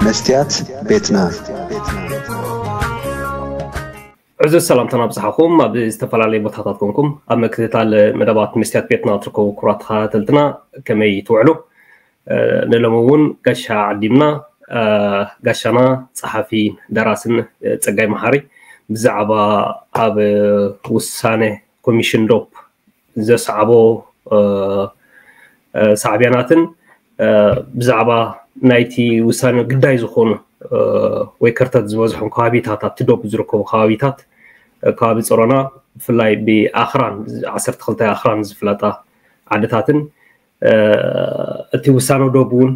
መስትያት ቤትና። ዕዙዝ ሰላምታና ብጽሓኹም ኣብ ዝተፈላለዩ ቦታታት ኮንኩም ኣብ ምክትታል መደባት መስትያት ቤትና ትርከቡ ክቡራት ተኸታተልትና፣ ከመይ ትውዕሉ? ንሎሚ እውን ጋሻ ዓዲምና፣ ጋሻና ጸሓፊ ደራስን ጸጋይ መሓሪ ብዛዕባ ኣብ ውሳነ ኮሚሽን ዶብ ዘስዓቦ ሳዕብያናትን ብዛዕባ ናይቲ ውሳነ ግዳይ ዝኾኑ ወይ ከርተት ዝበዝሖም ከባቢታት፣ ኣብቲ ዶብ ዝርከቡ ከባቢታት፣ ከባቢ ጸሮና፣ ብፍላይ ብኣኽራን፣ ዓሰርተ ክልተ ኣኽራን ዝፍለጣ ዓድታትን እቲ ውሳነ ዶብ እውን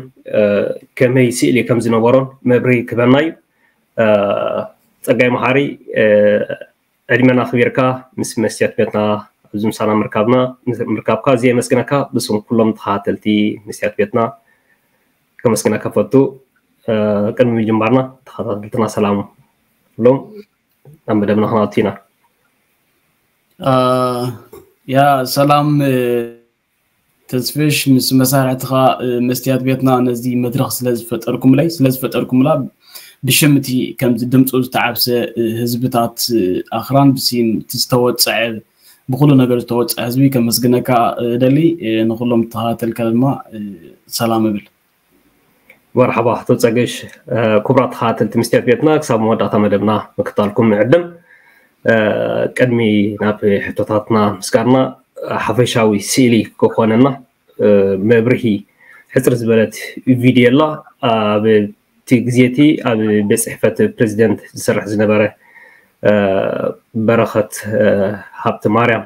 ከመይ ስእሊ ከም ዝነበሮን መብርሂ ክበና እዩ። ጸጋይ መሓሪ፣ ዕድመና ኣኽቢርካ ምስ መስትያት ቤትና ኣብዚ ምሳና ምርካብና ምርካብካ እዚ የመስግነካ። ብስም ኩሎም ተኸታተልቲ መስትያት ቤትና ከመስግነካ ፈቱ። ቅድሚ ምጅማርና ተኸታተልትና ሰላም ሎም ናብ መደብና ክናቱ ኢና። ያ ሰላም ተስፍሽ፣ ምስ መሳርሕትኻ መስትያት ቤትና ነዚ መድረኽ ስለዝፈጠርኩምለይ ስለዝፈጠርኩምላ ብሽምቲ ከምዚ ድምፁ ዝተዓብሰ ህዝብታት ኣኽራን ብሲም እቲ ዝተወፀዐ ብኩሉ ነገር ዝተወፀዐ ህዝቢ ከመስግነካ እደሊ። ንኩሎም ተኸታተልካ ድማ ሰላም እብል። መርሓባ ኣቶ ጸገሽ። ክቡራት ተኸታተልቲ መስትያት ቤትና ክሳብ መወዳእታ መደብና ምክታልኩም ንዕድም። ቅድሚ ናብ ሕቶታትና ምስጋርና ሓፈሻዊ ስእሊ ክኾነና መብርሂ ሕፅር ዝበለት ቪድዮ ኣላ። ኣብ እቲ ግዜ እቲ ኣብ ቤት ፅሕፈት ፕሬዚደንት ዝሰርሕ ዝነበረ በረኸት ሃብተ ማርያም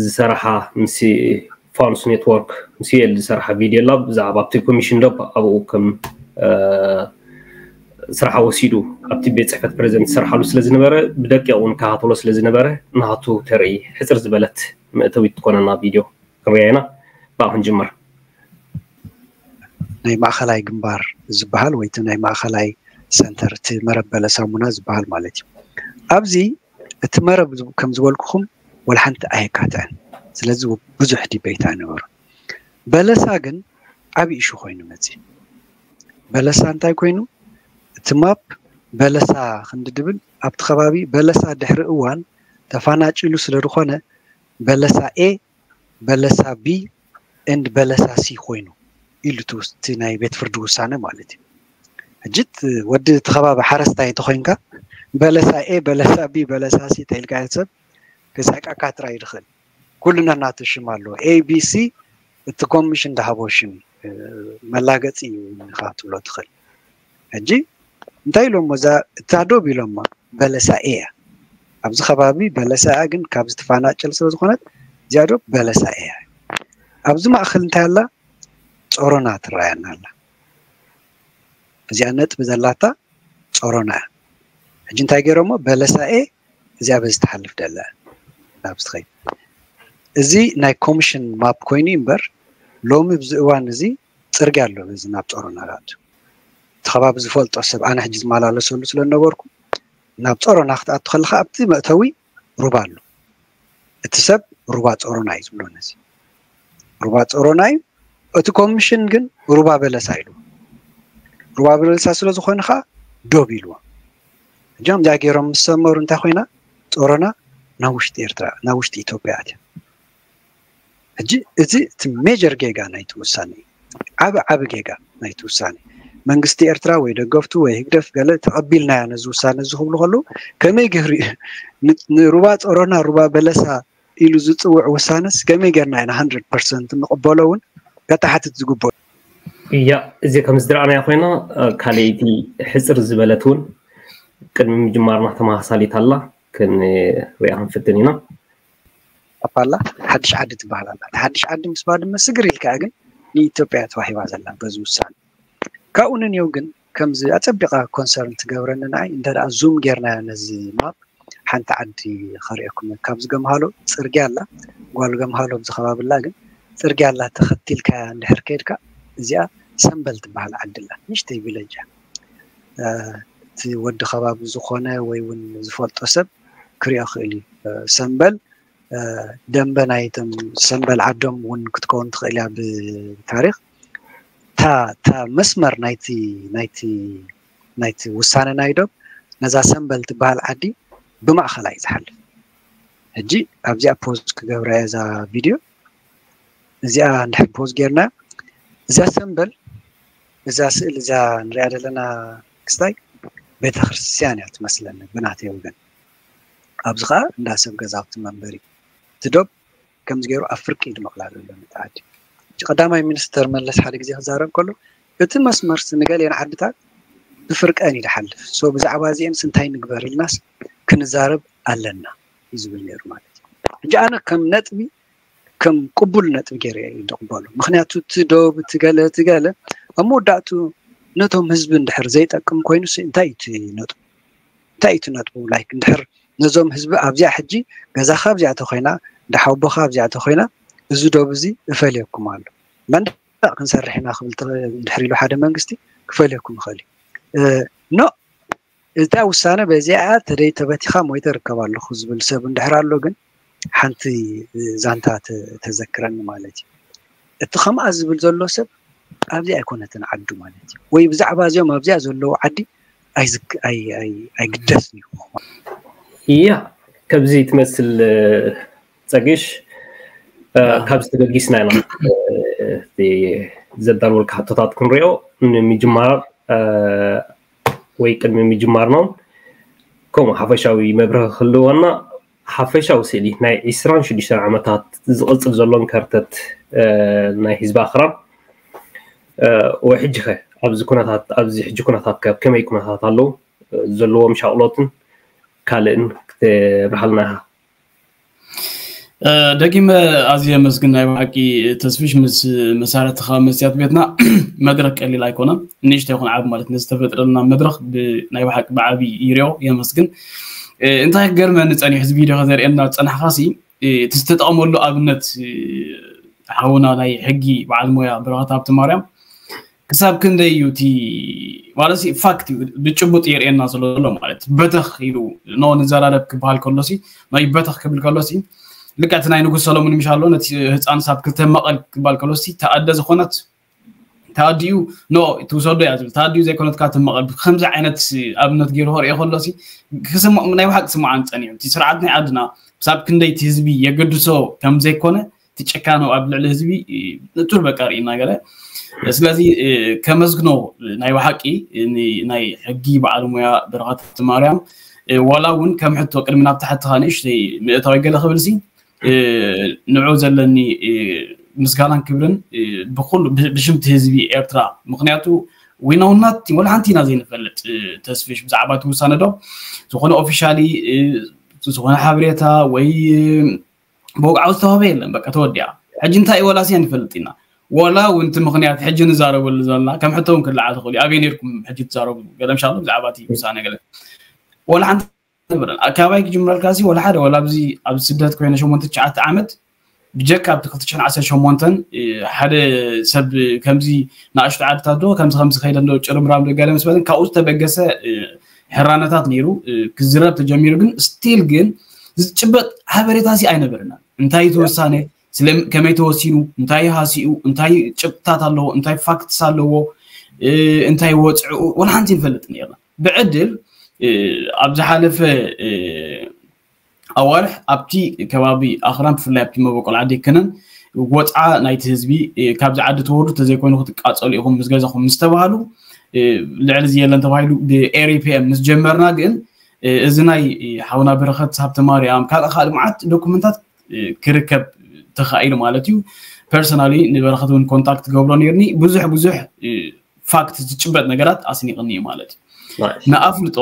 ዝሰራሓ ምስ ፋኑስ ኔትወርክ ምስ ዩኤል ዝሰራሓ ቪድዮ ላ ብዛዕባ ኣብቲ ኮሚሽን ዶብ ኣብኡ ከም ስራሓ ወሲዱ ኣብቲ ቤት ፅሕፈት ፕሬዚደንት ዝሰርሓሉ ስለ ዝነበረ ብደቂቕ እውን ከሃተሎ ስለ ዝነበረ ናቱ ተርኢ ሕፅር ዝበለት መእተዊት ትኮነና ቪድዮ ክንሪያ ኢና። ብኣ ክንጅምር። ናይ ማእኸላይ ግንባር ዝበሃል ወይ እቲ ናይ ማእኸላይ ሰንተር እቲ መረብ በለሳ ሙና ዝበሃል ማለት እዩ። ኣብዚ እቲ መረብ ከም ዝበልኩኹም ወላ ሓንቲ ኣየካትዕን። ስለዚ ብዙሕ ዲበይት ኣይነበሩ። በለሳ ግን ዓብዪ ኢሹ ኮይኑ መፂ። በለሳ እንታይ ኮይኑ እቲ ማፕ በለሳ ክንዲ ድብል ኣብቲ ከባቢ በለሳ ድሕሪ እዋን ተፋናጭሉ ስለ ዝኾነ በለሳ ኤ በለሳ ቢ ኤንድ በለሳ ሲ ኮይኑ ኢሉ እቲ ናይ ቤት ፍርዲ ውሳነ ማለት እዩ። ሕጂ ወዲ እቲ ከባቢ ሓረስታይ ተኮይንካ በለሳ ኤ በለሳ ቢ በለሳ ሲ ተኢልካ ሰብ ክሳቃካ ጥራይ ይድኽእል። ኩሉ ነናቱ ሽም ኣለዎ። ኤ ቢ ሲ እቲ ኮሚሽን ዝሃቦ ሽም መላገፂ እዩ ኢኻ ትብሎ ትኽእል። ሕጂ እንታይ ኢሎሞ እዛ እታ ዶብ ኢሎማ በለሳ ኤ እያ። ኣብዚ ከባቢ በለሳ እያ፣ ግን ካብ ዝተፋናጨል ስለ ዝኾነት እዚኣ ዶብ በለሳ ኤ እያ። ኣብዚ ማእኸል እንታይ ኣላ? ጾሮና ትረኣየና ኣላ። እዚኣ ነጥቢ ዘላታ ጾሮና እያ። ሕጂ እንታይ ገይሮሞ በለሳ ኤ እዚኣ በዚ ትሓልፍ ደላ ናብ ዝትኸይድ። እዚ ናይ ኮሚሽን ማፕ ኮይኑ እምበር ሎሚ ብዚ እዋን እዚ ፅርግያ ኣሎ በዚ ናብ ጾሮና ዝኣቱ። እቲ ከባቢ ዝፈልጦ ሰብ ኣነ ሕጂ ዝመላለሰሉ ስለ ዝነበርኩ ናብ ጾሮና ክትኣቱ ከለካ ኣብቲ መእተዊ ሩባ ኣሎ። እቲ ሰብ ሩባ ጾሮና እዩ ዝብሎ ነዚ። ሩባ ጾሮና እዩ። እቲ ኮሚሽን ግን ሩባ በለሳ ኢሉ። ሩባ በለሳ ስለ ዝኾነ ከዓ ዶብ ኢልዎ። እጃም እዚኣ ገይሮም ምስ ሰመሩ እንታይ ኮይና ጾሮና ናብ ውሽጢ ኤርትራ ናብ ውሽጢ ኢትዮጵያ ኣትያ። ሕጂ እዚ እቲ ሜጀር ጌጋ ናይቲ ውሳነ እዩ። ዓቢ ዓቢ ጌጋ ናይቲ ውሳነ። መንግስቲ ኤርትራ ወይ ደገፍቱ ወይ ህግደፍ ገለ ተቐቢልናዮ ነዚ ውሳነ እዚ ክብሉ ከለዉ ከመይ ገይሩ እዩ ን- ንሩባ ጾሮና ሩባ በለሳ ኢሉ ዝጽውዕ ውሳነስ ከመይ ጌርና ኢና ሃንድረድ ፐርሰንት ንቕበሎ እውን ከተሓትት ዝግበኦ። እያ እዚ ከም ዝድረኣናዮ ኮይና ካልኣይቲ ሕፅር ዝበለት እውን ቅድሚ ምጅማርና ተመሳሳሊት ኣላ ክንሪኣ ክንፍትን ኢና። ኣፓላ ሓድሽ ዓዲ ትበሃል ኣላ። ሓድሽ ዓዲ ምስ ባድመ ስግር ኢልካ ግን ንኢትዮጵያ ተዋሂባ ዘላ በዚ ውሳነ። ካብኡ ንንየው ግን ከምዚ ኣጸቢቓ ኮንሰርን ትገብረኒ ንዓይ እንተ ደኣ ዙም ጌርናዮ ነዚ ማፕ ሓንቲ ዓዲ ከርእየኩም እየ። ካብዚ ገምሃሎ ጽርግያ ኣላ፣ ጓል ገምሃሎ ኣብዚ ከባቢ ኣላ፣ ግን ጽርግያ ኣላ ተኸቲልካያ እንድሕር ከይድካ እዚኣ ሰምበል ትበሃል ዓዲ ኣላ። ንእሽተይ ቪለጅ እያ። እቲ ወዲ ከባቢ ዝኾነ ወይ እውን ዝፈልጦ ሰብ ክሪኦ ክእል እዩ። ሰምበል ደንበ ናይቶም ሰምበል ዓዶም እውን ክትከውን ትኽእል እያ ብታሪክ። እታ መስመር ናይቲ ናይቲ ናይቲ ውሳነ ናይ ዶብ ነዛ ሰምበል ትበሃል ዓዲ ብማእኸላ እዩ ዝሓልፍ። ሕጂ ኣብዚኣ ፖዝ ክገብራ እየ እዛ ቪድዮ እዚኣ እንድሕር ፖዝ ጌርና እዛ ሰምበል እዛ ስእል እዛ ንሪኣ ዘለና ክስታይ ቤተክርስትያን እያ ትመስለኒ ብናተይ ወገን። ኣብዚ ከዓ እንዳ ሰብ ገዛውቲ መንበሪ ትዶብ ከምዚ ገይሩ ኣብ ፍርቂ ይድመቕላ ዘሎ ነቲ ዓዲ። እቲ ቀዳማይ ሚኒስተር መለስ ሓደ ግዜ ክዛረብ ከሎ እቲ መስመርሲ ንገሊአን ዓድታት ብፍርቀን እዩ ዝሓልፍ። ሶ ብዛዕባ እዚአንስ እንታይ ንግበር ኢልናስ ክንዛረብ ኣለና እዩ ዝብል ነይሩ ማለት እዩ። ሕጂ ኣነ ከም ነጥቢ ከም ቅቡል ነጥቢ ገይረ እዩ ዝቕበሎ። ምክንያቱ እቲ ዶብ እቲ ገለ እቲ ገለ ኣብ መወዳእቱ ነቶም ህዝቢ እንድሕር ዘይጠቅም ኮይኑ እንታይ እዩ ነጥቡ? እንታይ እዩ ነጥቡ? ላይክ እንድሕር ነዞም ህዝቢ ኣብዚኣ ሕጂ ገዛኻ ኣብዚኣ ተኮይና ደሓውቦኻ ኣብዚኣ ተኮይና እዚ ዶብ እዚ እፈልየኩም ኣሎ መንደቅ ክንሰርሕ ኢና ክብል እንድሕር ኢሉ ሓደ መንግስቲ ክፈልየኩም ይኽእል እዩ። ኖ እታ ውሳነ በዚኣ ተደይ ተበቲኻ ሞይተ ርከብ ኣለኹ ዝብል ሰብ እንድሕር ኣሎ ግን ሓንቲ ዛንታ ተዘክረኒ ማለት እዩ። እቲ ከምኣ ዝብል ዘሎ ሰብ ኣብዚ ኣይኮነትን ዓዱ ማለት እዩ። ወይ ብዛዕባ እዚኦም ኣብዚኣ ዘለዉ ዓዲ ኣይግደስን እዩ። ያ ከምዚ ትመስል ጸግሽ ካብዚ ተበጊስና ኢና ዘዳልወልካ ሕቶታት ክንሪኦ ንምጅማር ወይ ቅድሚ ምጅማርና ከምኡ ሓፈሻዊ መብርሂ ክህልወና ሓፈሻዊ ስእሊ ናይ ዒስራን ሽዱሽተን ዓመታት ዝቕጽል ዘሎን ከርተት ናይ ህዝቢ ኣኽራን ወይ ሕጂ ኸ ኣብዚ ኩነታት ኣብዚ ሕጂ ኩነታት ከ ከመይ ኩነታት ኣለዉ ዘለዎም ሻቕሎትን ካልእን ክትብርሃልና ኢኻ። ደጊመ ኣዝየ የመስግን ናይ ብሓቂ ተስፍሽ ምስ መሳርሕትኻ መስትያት ቤትና መድረክ ቀሊል ኣይኮነን ንእሽቶ ይኹን ዓብ ማለት ነዝተፈጥረልና መድረክ ናይ ብሓቂ ብዓቢ ይሪኦ የመስግን። እንታይ ክገርመኒ ጸኒሑ እዚ ቪድዮ ከዘርእየና ዝጸናሕኻሲ እቲ ዝተጠቐመሉ ኣብነት ሓውና ናይ ሕጊ በዓል ሞያ ብረኸት ሃብቲ ማርያም ክሳብ ክንደይ እዩ እቲ ማለት ፋክት እዩ ብጭቡጥ የርእየና ዘሎ ማለት በተኽ ኢሉ ኖ ንዘራረብ ክበሃል ከሎሲ ናይ በተኽ ክብል ከሎሲ ልክዕ እቲ ናይ ንጉስ ሰሎሙን ምሽ ኣሎ ነቲ ህፃን ሳብ ክልተ መቐል ክበሃል ከሎሲ ተኣደ ዝኾነት ተኣዲኡ ኖ ትውሰዶ እያ ዝብል ተኣዲኡ ዘይኮነትካ ትመቐል ከምዚ ዓይነት ኣብነት ገይሩ ክርእዮ ከሎሲ ክስምዖ ናይ ብሓቂ ስምዓን ፀኒዑ እቲ ስርዓት ናይ ዓድና ሳብ ክንደይ እቲ ህዝቢ የገድሶ ከም ዘይኮነ እቲ ጭካኑ ኣብ ልዕሊ ህዝቢ ንጹር በቃ ርኢ እናገለ ስለዚ ከመስግኖ ናይ ብሓቂ ናይ ሕጊ በዓል ሙያ ብረኸት ማርያም ዋላ እውን ከም ሕቶ ቅድሚ ናብ ታሕትኻ ንእሽተይ ምእታዊ ገለ ክብል ሲ ንዑ ዘለኒ ምስጋናን ክብርን ብኩሉ ብሽምቲ ህዝቢ ኤርትራ ምክንያቱ ዊናውናት ወላ ሓንቲ ኢና ዘይንፈልጥ ተስፊሽ ብዛዕባ እቲ ውሳነ ዶ ዝኾነ ኦፊሻሊ ዝኾነ ሓበሬታ ወይ ብወግዓዊ ዝተዋህበ የለን በቃ ተወዲኣ ሕጂ እንታይ ወላ ስያ ንፈልጥ ኢና ወላ እውን እቲ ምክንያት ሕጂ ንዛረበሉ ዘለና ከም ሕቶ እውን ክለዓል ትኽእሉ ኣበይ ነርኩም ሕጂ ትዛረቡ ገለ ምሻሉ ብዛዕባ እቲ ውሳነ ገለ ወላ ሓንቲ ንብረን ኣካባቢ ክጅምረልካ ሲ ወላ ሓደ ወላ ኣብዚ ኣብ ስደት ኮይነ ሸሞንተ ትሽዓተ ዓመት ብጀካ ኣብቲ ክልተ ሽሕን ዓሰርተ ሸሞንተን ሓደ ሰብ ከምዚ ንኣሽቱ ዓድታት ዶ ከምዚ ከምዚ ከይደ ዶ ጭርምራም ዶ ገለ ምስ በለን ካብኡ ዝተበገሰ ሕራነታት ነይሩ ክዝረብ ተጀሚሩ ግን ስቲል ግን ዝጭበጥ ሓበሬታ ሲ ኣይነበረናን እንታይ ተወሳነ ከመይ ተወሲኑ እንታይ ሃሲኡ እንታይ ጭብጥታት ኣለዎ እንታይ ፋክትስ ኣለዎ እንታይ ወፅዕኡ ወላ ሓንቲ ንፈልጥ ነርና ብዕድል ኣብ ዝሓለፈ ኣዋርሕ ኣብቲ ከባቢ ኣኽራን ብፍላይ ኣብቲ መበቆል ዓዲ ክነን ወፅዓ ናይቲ ህዝቢ ካብዚ ዓዲ ተወርዱ ተዘይኮይኑ ክትቃፀሉ ኢኹም ምስ ገዛኹም ምስ ተባሃሉ ልዕሊ እዚ የለን ተባሂሉ ብኤሪፒኤም ምስ ጀመርና ግን እዚ ናይ ሓውና በረኸት ሃብተ ማርያም ካልእ ካልእ መዓት ዶኩመንታት ክርከብ ተኻኢሉ ማለት እዩ ፐርሰናሊ ንበረኸት እውን ኮንታክት ገብሮ ነርኒ ብዙሕ ብዙሕ ፋክት ዝጭበጥ ነገራት ኣስኒቕኒ እዩ ማለት እዩ ንኣፍልጦ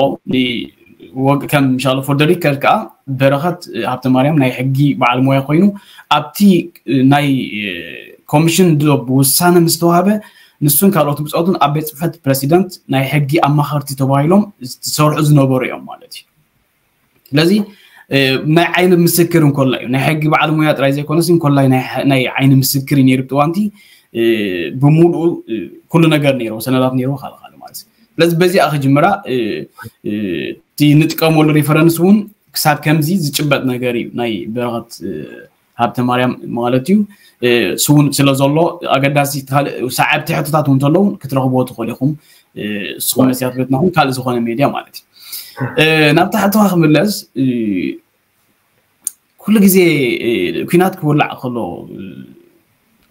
ከም ሻሎ ፎር ሪከርድ ከዓ በረኸት ሃብተ ማርያም ናይ ሕጊ በዓል ሞያ ኮይኑ ኣብቲ ናይ ኮሚሽን ዶ ብውሳነ ምስተዋህበ ንሱን ካልኦት ብፆቱን ኣብ ቤት ፅሕፈት ፕረሲደንት ናይ ሕጊ ኣማኸርቲ ተባሂሎም ዝሰርሑ ዝነበሩ እዮም ማለት እዩ ስለዚ ናይ ዓይኒ ምስክር እንኮላ እዩ ናይ ሕጊ በዓል ሙያ ጥራይ ዘይኮነስ እንኮላይ ናይ ዓይኒ ምስክር እዩ ነይሩ ብጥዋንቲ ብሙሉኡ ኩሉ ነገር ነይርዎ ሰነዳት ነይርዎ ካልእ ካልእ ማለት እዩ ስለዚ በዚኣ ክጅምራ እቲ ንጥቀመሉ ሪፈረንስ እውን ክሳብ ከምዚ ዝጭበጥ ነገር እዩ ናይ በረኸት ሃብተ ማርያም ማለት እዩ። ስውን ስለ ዘሎ ኣገዳሲ ካልእ ሰዓብቲ ሕቶታት እውን እንተለዉ ክትረኽብዎ ትኽእሉ ኢኹም። ንስኹም መስትያት ቤትናኹም ካልእ ዝኾነ ሜድያ ማለት እዩ። ናብቲ ሕቶኻ ክምለስ፣ ኩሉ ግዜ ኩናት ክውላዕ ከሎ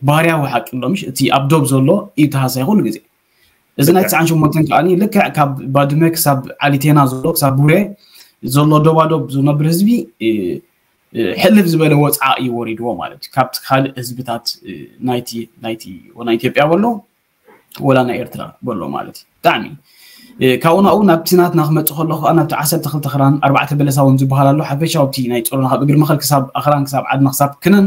ባህርያዊ ሓቂ ኣሎ፣ ምሽ እቲ ኣብ ዶብ ዘሎ እዩ ተሃሳይ ኩሉ ግዜ። እዚ ናይ ትስዓን ሸሞንተን ከኣ ልክዕ ካብ ባድመ ክሳብ ዓሊቴና ዘሎ ክሳብ ቡሬ ዘሎ ዶባዶብ ዝነብር ህዝቢ ሕልፍ ዝበለ ወፅዓ እዩ ወሪድዎ ማለት እዩ። ካብቲ ካልእ ህዝብታት ናይቲ ናይቲ ወላ ኢትዮጵያ በሎ ወላ ናይ ኤርትራ በሎ ማለት እዩ። ብጣዕሚ ካብኡ ናብኡ ናብቲ ናትና ክመፅእ ከሎ ከዓ ናብቲ ዓሰርተ ክልተ ክራን ኣርባዕተ በለሳ እውን ዝበሃል ኣሎ። ሓፈሻዊ እቲ ናይ ጾሮና ካብ እግሪ መኸል ክሳብ ኣኽራን ክሳብ ዓድና ክሳብ ክነን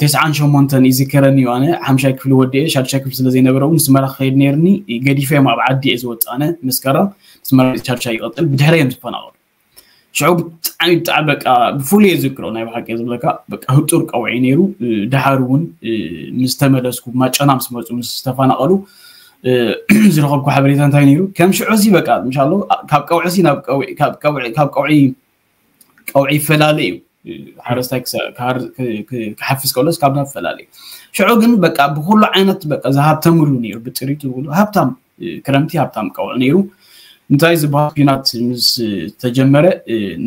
ተስዓን ሸሞንተን ይዝከረኒ እዩ። ኣነ ሓምሻይ ክፍሊ ወዲኤ ሻድሻይ ክፍሊ ስለ ዘይነበረ እውን ንስመራ ክኸይድ ነይርኒ ገዲፈ እዮም ኣብ ዓዲ እየ ዝወፅእ። ኣነ መስከረም ንስመራ ሻድሻይ ይቐፅል ብድሕረ እዮም ዝፈናቐሉ። ሽዑ ብጣዕሚ ብጣዕሚ በቃ ብፍሉይ እየ ዝዝክሮ ናይ ብሓቂ እየ ዝብለካ። በቃ ህጡር ቀውዒ ነይሩ። ድሓር እውን ምስ ተመለስኩ ማጨና ምስ መፁ ምስ ዝተፈናቐሉ ዝረኸብኩ ሓበሬታ እንታይ ነይሩ ከም ሽዑ እዚ በቃ ምሻሎ ካብ ቀውዒ እዚ ናብ ቀውዒ ካብ ቀውዒ ካብ ቀውዒ ቀውዒ ይፈላለ እዩ። ሓረስታይ ክሓፍስ ከሎስ ካብ ናብ ፈላለ እዩ። ሽዑ ግን በቃ ብኩሉ ዓይነት በቃ ዝሃብተምሉ ነይሩ ብጥሪቱ ዝብሉ ሃብታም ክረምቲ ሃብታም ቀውዒ ነይሩ። እንታይ ዝበሃል ኩናት ምስ ተጀመረ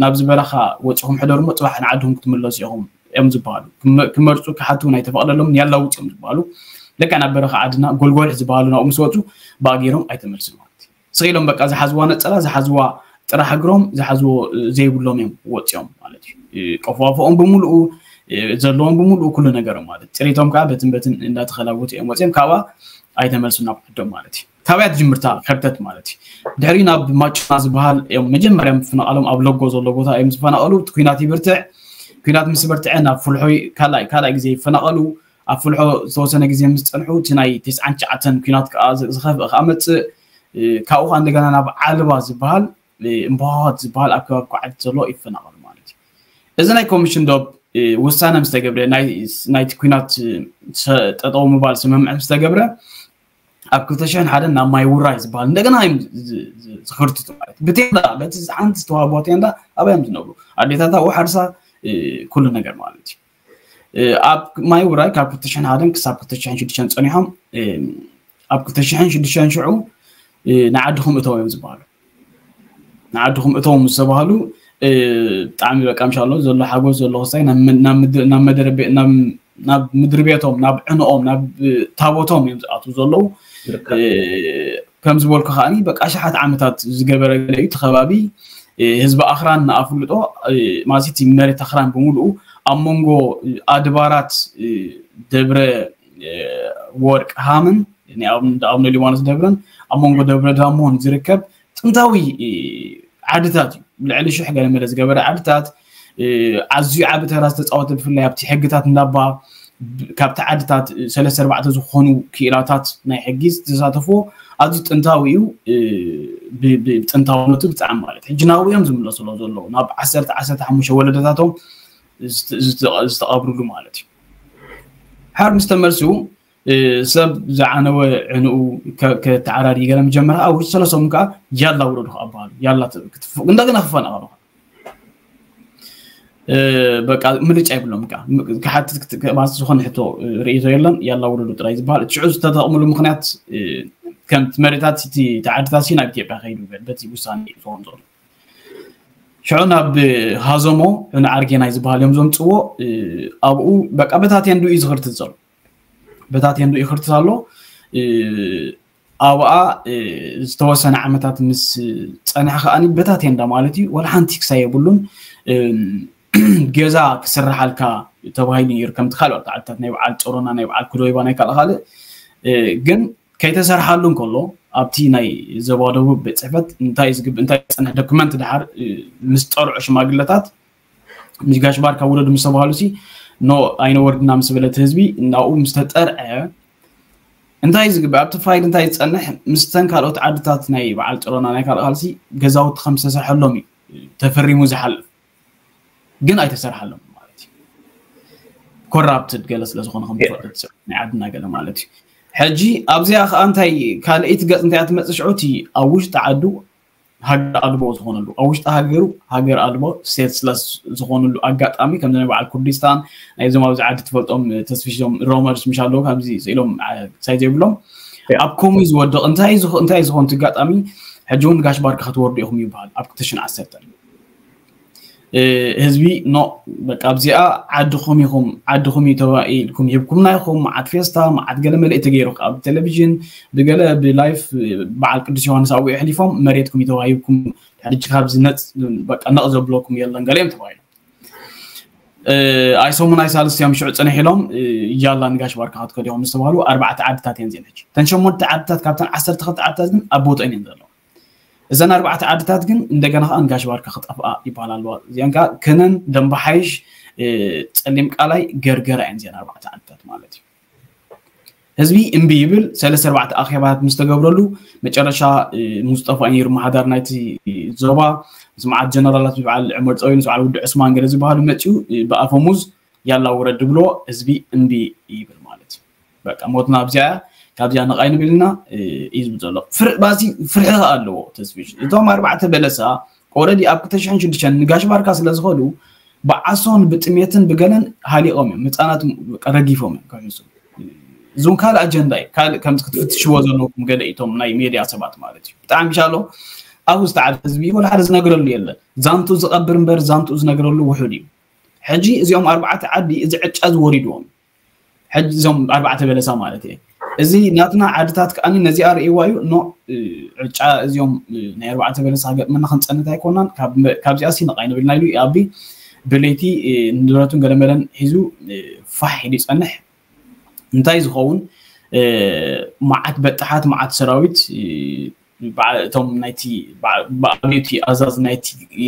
ናብዚ በረኻ ወፂኹም ሕደሩ እሞ ፅባሕ ንዓድኹም ክትምለሱ ኢኹም እዮም ዝበሃሉ። ክመርፁ ክሓቱ ናይ ተፈቕደሎም ያላውፅ እዮም ዝበሃሉ። ለካ ናብ በረኻ ዓድና ጎልጎልሕ ዝበሃሉ ናብኡ ምስ ወፁ ብኣገይሮም ኣይተመልሱን ማለት እዩ። ስቕ ኢሎም በቃ ዝሓዝዋ ነፀላ ዝሓዝዋ ጥራሕ እግሮም ዝሓዝዎ ዘይብሎም እዮም ወፂኦም ማለት እዩ። ቆፎፎኦም ብምልኡ ዘለዎም ብምልኡ ኩሉ ነገሮም ማለት ፅሬቶም ከዓ በትን በትን እንዳተኸላወቱ እዮም ወፂኦም። ካብኣ ኣይተመልሱን ናብ ዓዶም ማለት እዩ። ካበያ ትጅምርታ ከርተት ማለት እዩ። ድሕሪ ናብ ማጭና ዝበሃል እዮም መጀመርያ ምፍናቓሎም ኣብ ለጎ ዘሎ ቦታ እዮም ዝፈናቐሉ። እቲ ኩናት ይብርትዕ። ኩናት ምስ በርትዐ ናብ ፍልሖ ካልኣይ ካልኣይ ግዜ ይፈናቐሉ። ኣብ ፍልሖ ዝተወሰነ ግዜ ምስ ፀንሑ እቲ ናይ ተስዓን ትሽዓተን ኩናት ከዓ ዝኸፍእ ከዓ መፅእ። ካብኡ ከዓ እንደገና ናብ ዓልባ ዝበሃል እምባሆት ዝበሃል ኣብ ከባቢ ኳዕቲ ዘሎ ይፈናቐሉ ማለት እዩ። እዚ ናይ ኮሚሽን ዶብ ውሳነ ምስ ተገብረ ናይቲ ኩናት ጠጠው ምባል ስምምዕ ምስ ተገብረ ኣብ ክልተ ሽሕን ሓደን ናብ ማይ ውራይ ዝበሃል እንደገና እዮም ዝኽርትቱ ማለት እዩ። ብቴንዳ በቲ ሓንቲ ዝተዋህቦ ቴንዳ ኣበይ እዮም ዝነብሩ? ኣዴታት ኣብኡ ሓርሳ ኩሉ ነገር ማለት እዩ። ኣብ ማይ ውራይ ካብ ክልተ ሽሕን ሓደን ክሳብ ክልተ ሽሕን ሽዱሽተን ፀኒሖም ኣብ ክልተ ሽሕን ሽዱሽተን ሽዑ ንዓድኹም እተው እዮም ዝበሃሉ። ንዓድኹም እተው ምስ ተባሃሉ ብጣዕሚ በቃ ምሻሎ ዘሎ ሓጎስ ዘሎ ክስታይ ናብ ምድሪ ቤቶም ናብ ዕንኦም ናብ ታቦቶም እዮም ዝኣትዉ ዘለዉ። ከም ዝበልኩ ከዓኒ በቃ ኣሽሓት ዓመታት ዝገበረ ገለ እዩ። እቲ ከባቢ ህዝቢ ኣኽራን ንኣፍልጦ ማለት መሬት ኣኽራን ብምሉኡ ኣብ መንጎ ኣድባራት ደብረ ወርቅ ሃምን ናይ ኣቡነ ሊባኖስ ደብረን ኣብ መንጎ ደብረ ዳሞን ዝርከብ ጥንታዊ ዓድታት እዩ። ልዕሊ ሽሕ ገለ መለ ዝገበረ ዓድታት ኣዝዩ ዓቢ ተራ ዝተፃወተ ብፍላይ ኣብቲ ሕግታት እንዳባ ካብቲ ዓድታት ሰለስተ ኣርባዕተ ዝኾኑ ክኢላታት ናይ ሕጊ ዝተሳተፍዎ ኣዝዩ ጥንታዊ እዩ። ብጥንታውነቱ ብጣዕሚ ማለት ሕጂ ናብኡ እዮም ዝምለሱ ኣለዉ ዘለዉ ናብ ዓሰርተ ዓሰርተ ሓሙሽተ ወለደታቶም ዝተቐብርሉ ማለት እዩ። ሓር ምስ ተመልሱ ሰብ ዝዓነወ ዕንኡ ከተዓራሪ ገለ ምጀመረ ኣብ ውሽጢ ሰለስተ ሰሙን ከዓ ያላ ውረዱ ከዓ በሃሉ። ያላ ክትፍ- እንደገና ክፈናቐሉ በቃ ምርጫ የብሎም። ከዓ ክሓትት ክትማስ ዝኾነ ሕቶ ርእይቶ የለን። ያላ ውረዱ ጥራይ ዝበሃል እቲ ሽዑ ዝተጠቕምሉ ምክንያት ከምቲ መሬታት እቲ ተዓድታት ናብ ኢትዮጵያ ከይዱ በቲ ውሳኔ ዝኾን ዘሎ ሽዑ ናብ ሃዞሞ ንዓርጌናይ ዝበሃል እዮም ዘምፅዎ። ኣብኡ በቃ በታ ቴንዱ እዩ ዝኽርትት ዘሎ። በታ ቴንዱ እዩ ክርትት ኣሎ። ኣብኣ ዝተወሰነ ዓመታት ምስ ፀንሐ ከዓኒ በታ ቴንዳ ማለት እዩ ወላ ሓንቲ ክሳይ የብሉን። ገዛ ክስርሓልካ ተባሂሉ ነይሩ ከምቲ ካልኦት ዓድታት ናይ በዓል ጨሮና ናይ በዓል ክዶይባ ናይ ካልእ ካልእ ግን ከይተሰርሓሉ እንከሎ ኣብቲ ናይ ዞባ ደቡብ ቤት ፅሕፈት እንታይ ዝግብ እንታይ ዝፀንሕ ዶክመንት ድሓር ምስ ጠርዑ ሽማግለታት ምስ ጋሽ ባርካ ውረዱ ምስ ተባሃሉ ሲ ኖ ኣይነወርድና ምስ በለት ህዝቢ ናብኡ ምስ ተጠርዐ እንታይ ዝግብእ ኣብቲ ፋይል እንታይ ዝፀንሕ ምስተን ካልኦት ዓድታት ናይ በዓል ጨሮና ናይ ካልእ ካልሲ ገዛውቲ ከም ዝተሰርሐሎም እዩ ተፈሪሙ ዝሓልፍ ግን ኣይተሰርሓሎም ማለት እዩ። ኮራፕትድ ገለ ስለ ዝኾነ ከም ትፈልጥ ናይ ዓድና ገለ ማለት እዩ። ሕጂ ኣብዚኣ ከዓ እንታይ ካልእይቲ ገፅ እንታይ ትመፅእ ሽዑ እቲ ኣብ ውሽጢ ዓዱ ሃገር ኣልቦ ዝኾነሉ፣ ኣብ ውሽጢ ሃገሩ ሃገር ኣልቦ፣ ስቴትለስ ዝኾነሉ ኣጋጣሚ፣ ከም ናይ በዓል ኩርዲስታን፣ ናይዞም ኣብዚ ዓዲ ትፈልጦም ተስፊሽ፣ ዞም ሮመርስ ምሽ ኣለዉ፣ ካብዚ ስኢሎም ሳይ ዘይብሎም ኣብ ኮሙ ዝወድቕ እንታይ ዝኾ- እንታይ ዝኾን ኣጋጣሚ፣ ሕጂ እውን ጋሽ ባርካ ክትወርዱ ኢኹም ይበሃል ኣብ ክልተ ሽሕን ዓሰርተን። ህዝቢ፣ ኖ፣ በቃ ኣብዚኣ ዓድኹም ኢኹም፣ ዓድኹም እዩ ተባሂልኩም፣ ሂብኩምና ኢኹም። መዓት ፌስታ፣ መዓት ገለ መለ ተገይሩ፣ ኣብ ቴሌቪዥን ብገለ ብላይፍ በዓል ቅዱስ ዮሃንስ ኣብኡ የሕሊፎም፣ መሬትኩም እዩ ተዋሂብኩም፣ ሕጂ ካብዚ ነፅ በቃ ነቕ ዘብለኩም የለን ገለ እዮም ተባሂሎም። ኣይ ሰሙን ኣይ ሳልስቲ እዮም ሽዑ ፅንሕ ኢሎም፣ ያላ ንጋሽ ባርካ ክትከዱ ኢኹም ዝተባህሉ ኣርባዕተ ዓድታት እየን እዚአን። ሕጂ እተን ሸሞንተ ዓድታት ካብተን ዓሰርተ ክልተ ዓድታት ግን ኣብ ቦትአን እየን ዘለዋ። እዘን ኣርባዕተ ዓድታት ግን እንደገና ከዓ ንጋሽ ባርካ ክጠፍኣ ይበሃል ኣለዋ። እዚአን ከዓ ከነን ደንባሓይሽ፣ ፀሊም ቃላይ፣ ገርገራ እየን እዚአን ኣርባዕተ ዓድታት ማለት እዩ። ህዝቢ እምቢ ይብል። ሰለስተ ኣርባዕተ ኣኼባታት ምስ ተገብረሉ መጨረሻ ሙስጠፋ እዩ መሓዳር ናይቲ ዞባ፣ ምስ መዓት ጀነራላት፣ ምስ በዓል ዑመር ፀዊን፣ ምስ በዓል ውዲ ዑስማን ገለ ዝበሃሉ መፅኡ ብኣፈሙዝ ያላ ውረድ ድብሎ፣ ህዝቢ እምቢ ይብል ማለት እዩ። በቃ ሞትና ኣብዚኣ እያ፣ ካብዚኣ ነቓይ ንብል ኢና እዩ ዝብል ዘሎ። ፍርባሲ ፍርሒ ከኣ ኣለዎ ተስፊሽ። እቶም ኣርባዕተ በለሳ ኦረዲ ኣብ ክልተ ሽሕን ሽዱሽተን ንጋሽ ባርካ ስለ ዝኸዱ ብዓሶን ብጥሜትን ብገለን ሃሊቖም እዮም። ህፃናት ረጊፎም እዮም ክሕሱ። እዚውን ካልእ ኣጀንዳ እዩ። ካልእ ከምዚ ክትፍትሽዎ ዘለኩም ገለ እቶም ናይ ሜድያ ሰባት ማለት እዩ። ብጣዕሚ ሻሎ ኣብኡ ዝተዓበ ህዝቢ ወላ ሓደ ዝነግረሉ የለን። ዛንቱ ዝቐብር እምበር ዛንቱ ዝነግረሉ ውሑድ እዩ። ሕጂ እዚኦም ኣርባዕተ ዓዲ እዚ ዕጫ ዝወሪድዎም ሕጂ እዞም ኣርባዕተ በለሳ ማለት እየ። እዚ ናትና ዓድታት ከኣኒ ነዚኣ ርእይዋ እዩ። ኖ፣ ዕጫ እዚኦም ናይ ኣርባዕተ በለሳ ገጥመና ክንፀንት ኣይኮናን። ካብዚኣ ሲ ነቓይ ንብል ናይሉ ኣቢ ብለይቲ ንብረቱን ገለመለን ሒዙ ፋሕ ኢሉ ይፀንሕ። እንታይ ዝኸውን መዓት በጣሓት፣ መዓት ሰራዊት፣ እቶም ናይቲ ብኣብዮቲ ኣዛዝ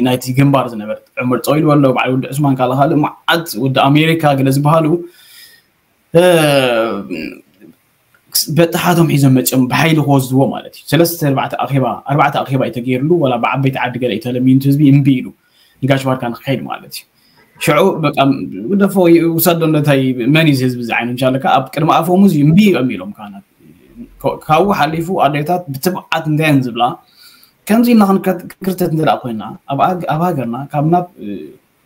ናይቲ ግንባር ዝነበረ ዕመር ፀዊል በሎ፣ በዓል ወዲ ዑስማን፣ ካልእ ካልእ መዓት ወዲ ኣሜሪካ ገለ ዝበሃሉ በጣሓቶም ሒዞም መፅኦም ብሓይሊ ክወስድዎ ማለት እዩ። ሰለስተ ኣርባዕተ ኣኼባ፣ ኣርባዕተ ኣኼባ እዩ ተገይርሉ፣ ወላ ብዓበይቲ ዓዲ ገለ እዩ ተለሚኑ ህዝቢ እምቢ ኢሉ ንጋሽ ባርካ ንክኸይድ ማለት እዩ። ሽዑ በቃ ግደፎ ውሰዶ፣ እንታይ መን እዩ ህዝቢ ዝዓይኑ እንሻለካ ኣብ ቅድሚ ኣፎም እዚ እምቢ እዮም ኢሎም ካህናት። ካብኡ ሓሊፉ ኣዴታት ብትብዓት እንታይ እየን ዝብላ፣ ከምዚ ኢልና ክንክርተት እንተ ኮይና ኣብ ሃገርና ካብ ናብ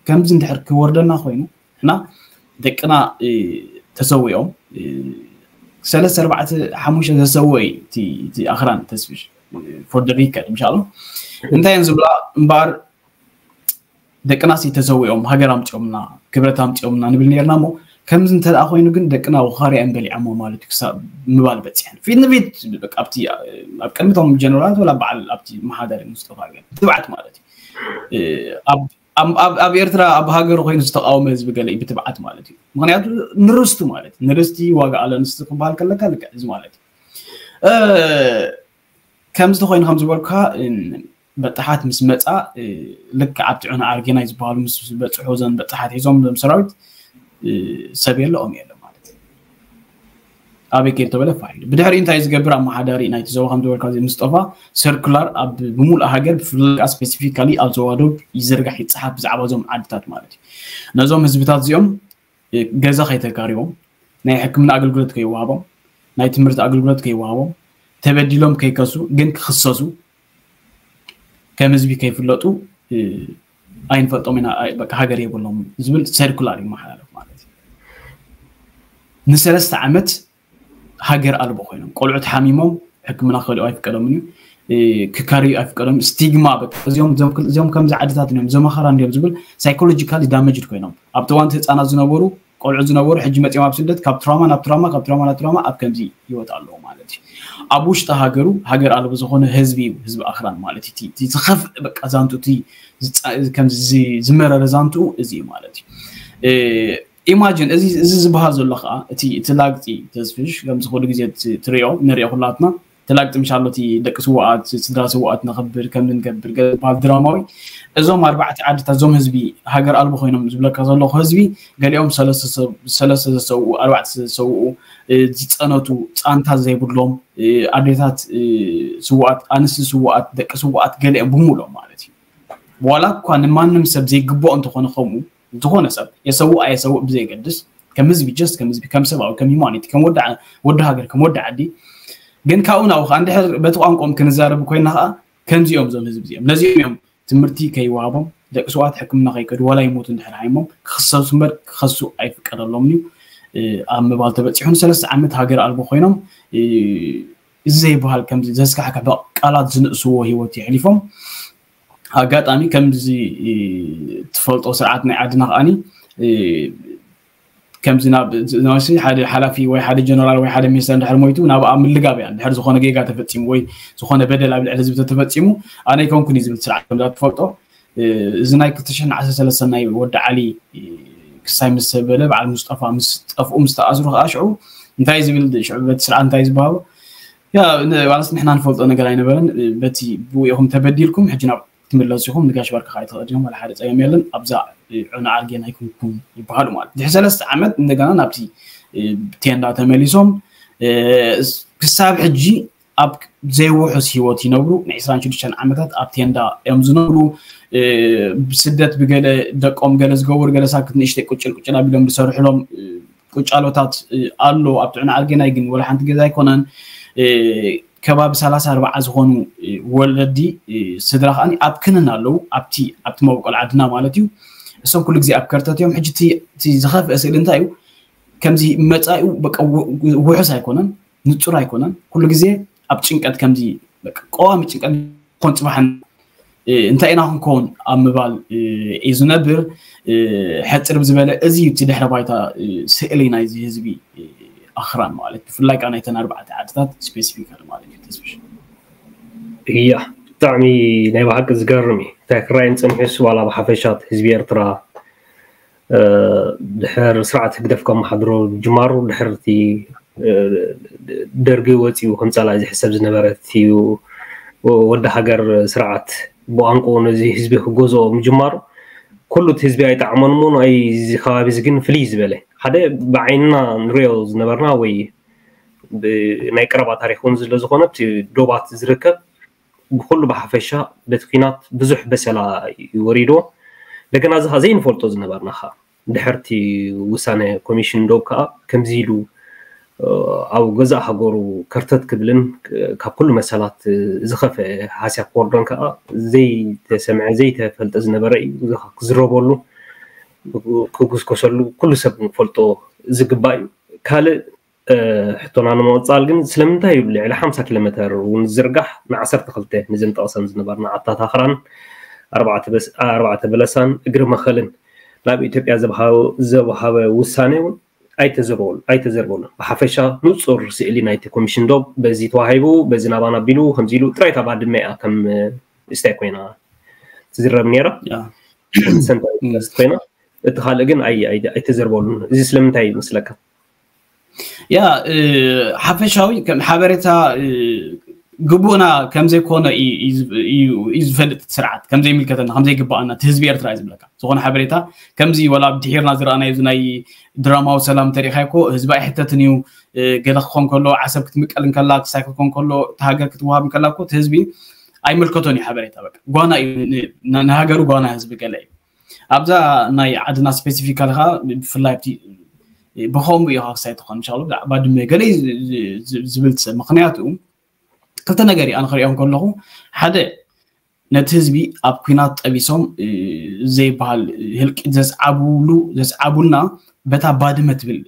ከምዚ እንድሕር ክወርደና ኮይኑ እና ደቅና ተሰዊኦም ሰለስተ ኣርባዕተ ሓሙሽተ ተሰወይ እቲ ኣኽራን ተስፍሽ for the record ምሻሎ እንታይ እየን ዝብላ እምበኣር ደቅናሲ ተሰዊኦም ሃገር ኣምፂኦምና ክብረት ኣምፂኦምና ንብል ነርና እሞ ከምዚ እንተ ኮይኑ ግን ደቅና ወኻርያ እዮም በሊዖሞ ማለት እዩ ክሳብ ምባል በፂሐን ፊት ንፊት ኣብቲ ኣብ ቅድሚቶም ጀነራላት ወላ በዓል ኣብቲ መሓደሪ ሙስጠፋ ገ ትብዓት ማለት እዩ ኣብ ኤርትራ ኣብ ሃገሩ ኮይኑ ዝተቃወመ ህዝቢ ገለ እዩ ብትብዓት ማለት እዩ ምክንያቱ ንርስቱ ማለት ንርስቲ ዋጋ ኣለንስቲ ክበሃል ከለካ ልክዕ እዚ ማለት እዩ ከምዚ ተኮይኑ ከም ዝበልኩካ በጣሓት ምስ መፃ ልክዕ ኣብቲ ዑና ኣርጌናይ ዝበሃሉ ምስ በፅሑ ዘን በጣሓት ሒዞም ዞም ሰራዊት ሰብ የለኦም የለ ማለት እዩ ኣበይ ከይድ ተበለ ፋይሉ ብድሕሪ እንታይ ዝገብር ኣመሓዳሪ ናይቲ ዞባ ከም ዝበልካ እዚ ምስጠፋ ሰርኩላር ኣብ ብምሉእ ሃገር ብፍላይ ከዓ ስፔሲፊካሊ ኣብ ዞባ ዶብ ይዝርጋሕ ይፀሓፍ ብዛዕባ እዞም ዓድታት ማለት እዩ ነዞም ህዝብታት እዚኦም ገዛ ከይተካሪቦም ናይ ሕክምና ኣገልግሎት ከይወሃቦም ናይ ትምህርቲ ኣገልግሎት ከይወሃቦም ተበዲሎም ከይከሱ ግን ክኽሰሱ ከም ህዝቢ ከይፍለጡ ኣይንፈልጦም ኢና በቃ ሃገር የብሎም ዝብል ሰርኩላር ይመሓላለፍ ማለት እዩ ንሰለስተ ዓመት ሃገር ኣልቦ ኮይኖም ቆልዑት ሓሚሞም ሕክምና ክኸዱ ኣይፍቀዶምን እዩ ክካርዩ ኣይፍቀዶም ስቲግማ እዚኦም እዚኦም ከምዚ ዓድታት እዮም ዘመኸራ እንዲዮም ዝብል ሳይኮሎጂካሊ ዳመጅድ ኮይኖም ኣብቲ ዋንቲ ህፃናት ዝነበሩ ቆልዑ ዝነበሩ ሕጂ መፂኦም ኣብ ስደት ካብ ትራማ ናብ ትራማ ካብ ትራማ ናብ ትራማ ኣብ ከምዚ ይወጣ ኣለዎ ማለት እዩ ኣብ ውሽጢ ሃገሩ ሃገር ኣልቦ ዝኾነ ህዝቢ እዩ ህዝቢ ኣኽራን ማለት እዩ ዝኸፍእ በቃ ዛንቱ ከምዚ ዝመረረ ዛንቱ እዚ እዩ ማለት እዩ ኢማጂን እዚ እዚ ዝበሃል ዘሎ ከዓ እቲ እቲ ላግፂ ተስፍሽ ከምዚ ኩሉ ግዜ ትሪኦ ንሪኦ ኩላትና እቲ ላግፂ ምሻሎ እቲ ደቂ ስዋኣት ስድራ ስዋኣት ነኽብር ከም ንገብር ዝበሃል ድራማዊ እዞም ኣርባዕተ ዓድታት እዞም ህዝቢ ሃገር ኣልቦ ኮይኖም ዝብለካ ዘለኹ ህዝቢ ገሊኦም ሰለስተ ዘሰውኡ ኣርባዕተ ዘሰውኡ ዝፀነቱ ፃንታት ዘይብሎም ኣዴታት ስዋኣት ኣንስቲ ስዋኣት ደቂ ስዋኣት ገሊኦም ብምሎም ማለት እዩ ዋላ እኳ ንማንም ሰብ ዘይግብኦ እንተኾነ ከምኡ ዝኾነ ሰብ የሰውእ ኣየሰውእ ብዘየገድስ ከም ህዝቢ just ከም ህዝቢ ከም ሰብኣዊ ከም ሂማኒቲ ከም ወዲ ሃገር ከም ወዲ ዓዲ ግን ካብኡ ናብኡ ከዓ እንድሕር በቲ ቋንቋኦም ክንዛረብ ኮይና ከዓ ከምዚኦም እዞም ህዝቢ እዚኦም ነዚኦም እዮም ትምህርቲ ከይወሃቦም ደቂ ሰባት ሕክምና ከይከዱ ዋላ ይሞቱ እንድሕር ሃይሞም ክኽሰሱ እምበር ክኸሱ ኣይፍቀደሎምን እዩ ኣብ ምባል ተበፂሑ ንሰለስተ ዓመት ሃገር ኣልቦ ኮይኖም እዚ ዘይበሃል ከምዚ ዘስካሕክሕ ቃላት ዝንእስዎ ህይወት የሕሊፎም ኣጋጣሚ ከምዚ ትፈልጦ ስርዓት ናይ ዓድና ከዓኒ ከምዚ ናብ ሓደ ሓላፊ ወይ ሓደ ጀነራል ወይ ሓደ ሚኒስተር እንድሕር ሞይቱ ናብ ኣብ ምልጋብ እያ እንድሕር ዝኾነ ጌጋ ተፈፂሙ ወይ ዝኾነ በደል ኣብ ልዕሊ ህዝቢ ተተፈፂሙ ኣነ ይኮንኩን እዩ ዝብል ስርዓት ከምዛ ትፈልጦ እዚ ናይ ክልተ ሽሕን ዓሰርተ ሰለስተን ናይ ወዲ ዓሊ ክሳይ ምስ ተበለ በዓል ሙስጠፋ ምስ ጠፍኡ ምስ ተኣስሩ ከዓ ሽዑ እንታይ ዝብል ሽዑ በቲ ስርዓት እንታይ ዝበሃቦ ያ ዋላስ ንሕና ንፈልጦ ነገር ኣይነበረን በቲ ብኡ ኢኹም ተበዲልኩም ሕጂ ናብ ትምለሱ ኢኹም ንጋሽ ባርካ ከዓ ይትኽእል እዮም ዋላ ሓደ ፀገም የለን ኣብዛ ዑና ዓርጌን ኣይኮንኩም ይበሃሉ ማለት ድሕሪ ሰለስተ ዓመት እንደገና ናብቲ ቴንዳ ተመሊሶም ክሳብ ሕጂ ኣብ ዘይውሑስ ህይወት ይነብሩ ን ዕስራን ሽዱሽተን ዓመታት ኣብ ቴንዳ እዮም ዝነብሩ ብስደት ብገለ ደቆም ገለ ዝገብሩ ገለ ሳክት ንእሽተይ ቁጭል ቁጭል ኣቢሎም ዝሰርሕሎም ቁጫሎታት ኣሎ ኣብ ጥዕና ኣልጌናይ ግን ወላ ሓንቲ ገዛ ኣይኮነን ከባቢ ሰላሳ ኣርባዓ ዝኾኑ ወለዲ ስድራ ከዓ ኣብ ክንን ኣለዉ ኣብቲ ኣብቲ መበቆል ዓድና ማለት እዩ እሶም ኩሉ ግዜ ኣብ ከርተት እዮም ሕጂ እቲ ዝኸፍአ ስእሊ እንታይ እዩ ከምዚ መፃኡ ውሑስ ኣይኮነን ንፁር ኣይኮነን ኩሉ ግዜ ኣብ ጭንቀት ከምዚ ቀዋሚ ጭንቀት ኮን ፅባሕን እንታይ ኢና ክንከውን ኣብ ምባል እዩ ዝነብር ሕፅር ብዝበለ እዚ እቲ ድሕረ ባይታ ስእሊ ናይዚ ህዝቢ ኣኽራን ማለት ብፍላይ ከዓ ናይተን ኣርባዕተ ዓድታት ስፔሲፊካል ማለት እዩ ተስፍሽ እያ ብጣዕሚ ናይ ብሓቂ ዝገርም እዩ እንታይ ክራይን ፀኒሑስ ዋላ ብሓፈሻት ህዝቢ ኤርትራ ድሕር ስርዓት ህግደፍ ከመሓድሮ ጅማሩ ድሕር እቲ ደርጊ ወፂኡ ከም ፀላኢ ዝሕሰብ ዝነበረ እዩ ወዲ ሃገር ስርዓት ብቋንቁ ነዚ ህዝቢ ክገዝኦ ምጅማሩ ኩሉ እቲ ህዝቢ ኣይጠዓሞን እሞ ናይ እዚ ከባቢ እዚ ግን ፍልይ ዝበለ ሓደ ብዓይንና ንሪኦ ዝነበርና ወይ ናይ ቀረባ ታሪክ እውን ዝለ ዝኾነ እቲ ዶባት ዝርከብ ብኩሉ ብሓፈሻ በቲ ኲናት ብዙሕ በሰላ እዩ ወሪድዎ እንደገና እዚ ዘይንፈልጦ ዝነበርና ከዓ ድሕርቲ ውሳነ ኮሚሽን ዶብ ከዓ ከምዚ ኢሉ ኣብ ገዛእ ሃገሩ ከርተት ክብልን ካብ ኩሉ መሰላት ዝኸፈ ሃስያ ክወርዶን ከዓ ዘይተሰምዐ ዘይተፈልጠ ዝነበረ እዩ ክዝረበሉ ክጉስኮሰሉ ኩሉ ሰብ ክፈልጦ ዝግባእ እዩ ካልእ ሕቶና ንምቕፃል ግን ስለምንታይ እዩ ልዕሊ ሓምሳ ኪሎ ሜተር እውን ዝርጋሕ ን ዓሰርተ ክልተ ንዘን ጠቕሰን ዝነበርና ዓታት ኣኽራን ኣርባዕተ በለሳን እግሪ መኸልን ናብ ኢትዮጵያ ዘብሃበ ውሳኔ እውን ኣይተዘርበሉን ብሓፈሻ ንፁር ስእሊ ናይቲ ኮሚሽን ዶብ በዚ ተዋሂቡ በዚ ናባና ኣቢሉ ከምዚ ኢሉ ጥራይ እታ ባድመ እያ ከም ስታይ ኮይና ትዝረብ ነይራ ሰንታ ኮይና እቲ ካልእ ግን ኣይተዘርበሉን እዚ ስለምንታይ ይመስለካ ያ ሓፈሻዊ ከም ሓበሬታ ግቡእና ከምዘይኮነ እዩ ዝፈልጥ ስርዓት ከምዘይምልከተና ከምዘይግባኣና እቲ ህዝቢ ኤርትራ እዩ ዝብለካ ዝኾነ ሓበሬታ ከምዚ ወላ ድሒርና ዝረኣናዮ እዚ ናይ ድራማዊ ሰላም ተሪኢኻ እኮ ህዝቢ ኣይሕተትን እዩ ገለ ክኾን ከሎ ዓሰብ ክትምቀል እንከላ ክሳይ ክትኮን ከሎ እቲ ሃገር ክትወሃብ እንከላ እኮ እቲ ህዝቢ ኣይምልከቶን እዩ ሓበሬታ በቃ ጓና እዩ ንሃገሩ ጓና ህዝቢ ገለ እዩ ኣብዛ ናይ ዓድና ስፔሲፊካሊ ከዓ ብፍላይ ኣብቲ ብኸምኡ እዩ ክሳይ ትኾን እንሻ ብዛዕባ ድመ ገለ ዝብል ሰብ ምክንያቱ ክልተ ነገር እዩ ኣነ ክሪኦም ከለኹ ሓደ ነቲ ህዝቢ ኣብ ኩናት ጠቢሶም ዘይበሃል ህልቂት ዘስዓብሉ ዘስዓቡልና በታ ባድመ ትብል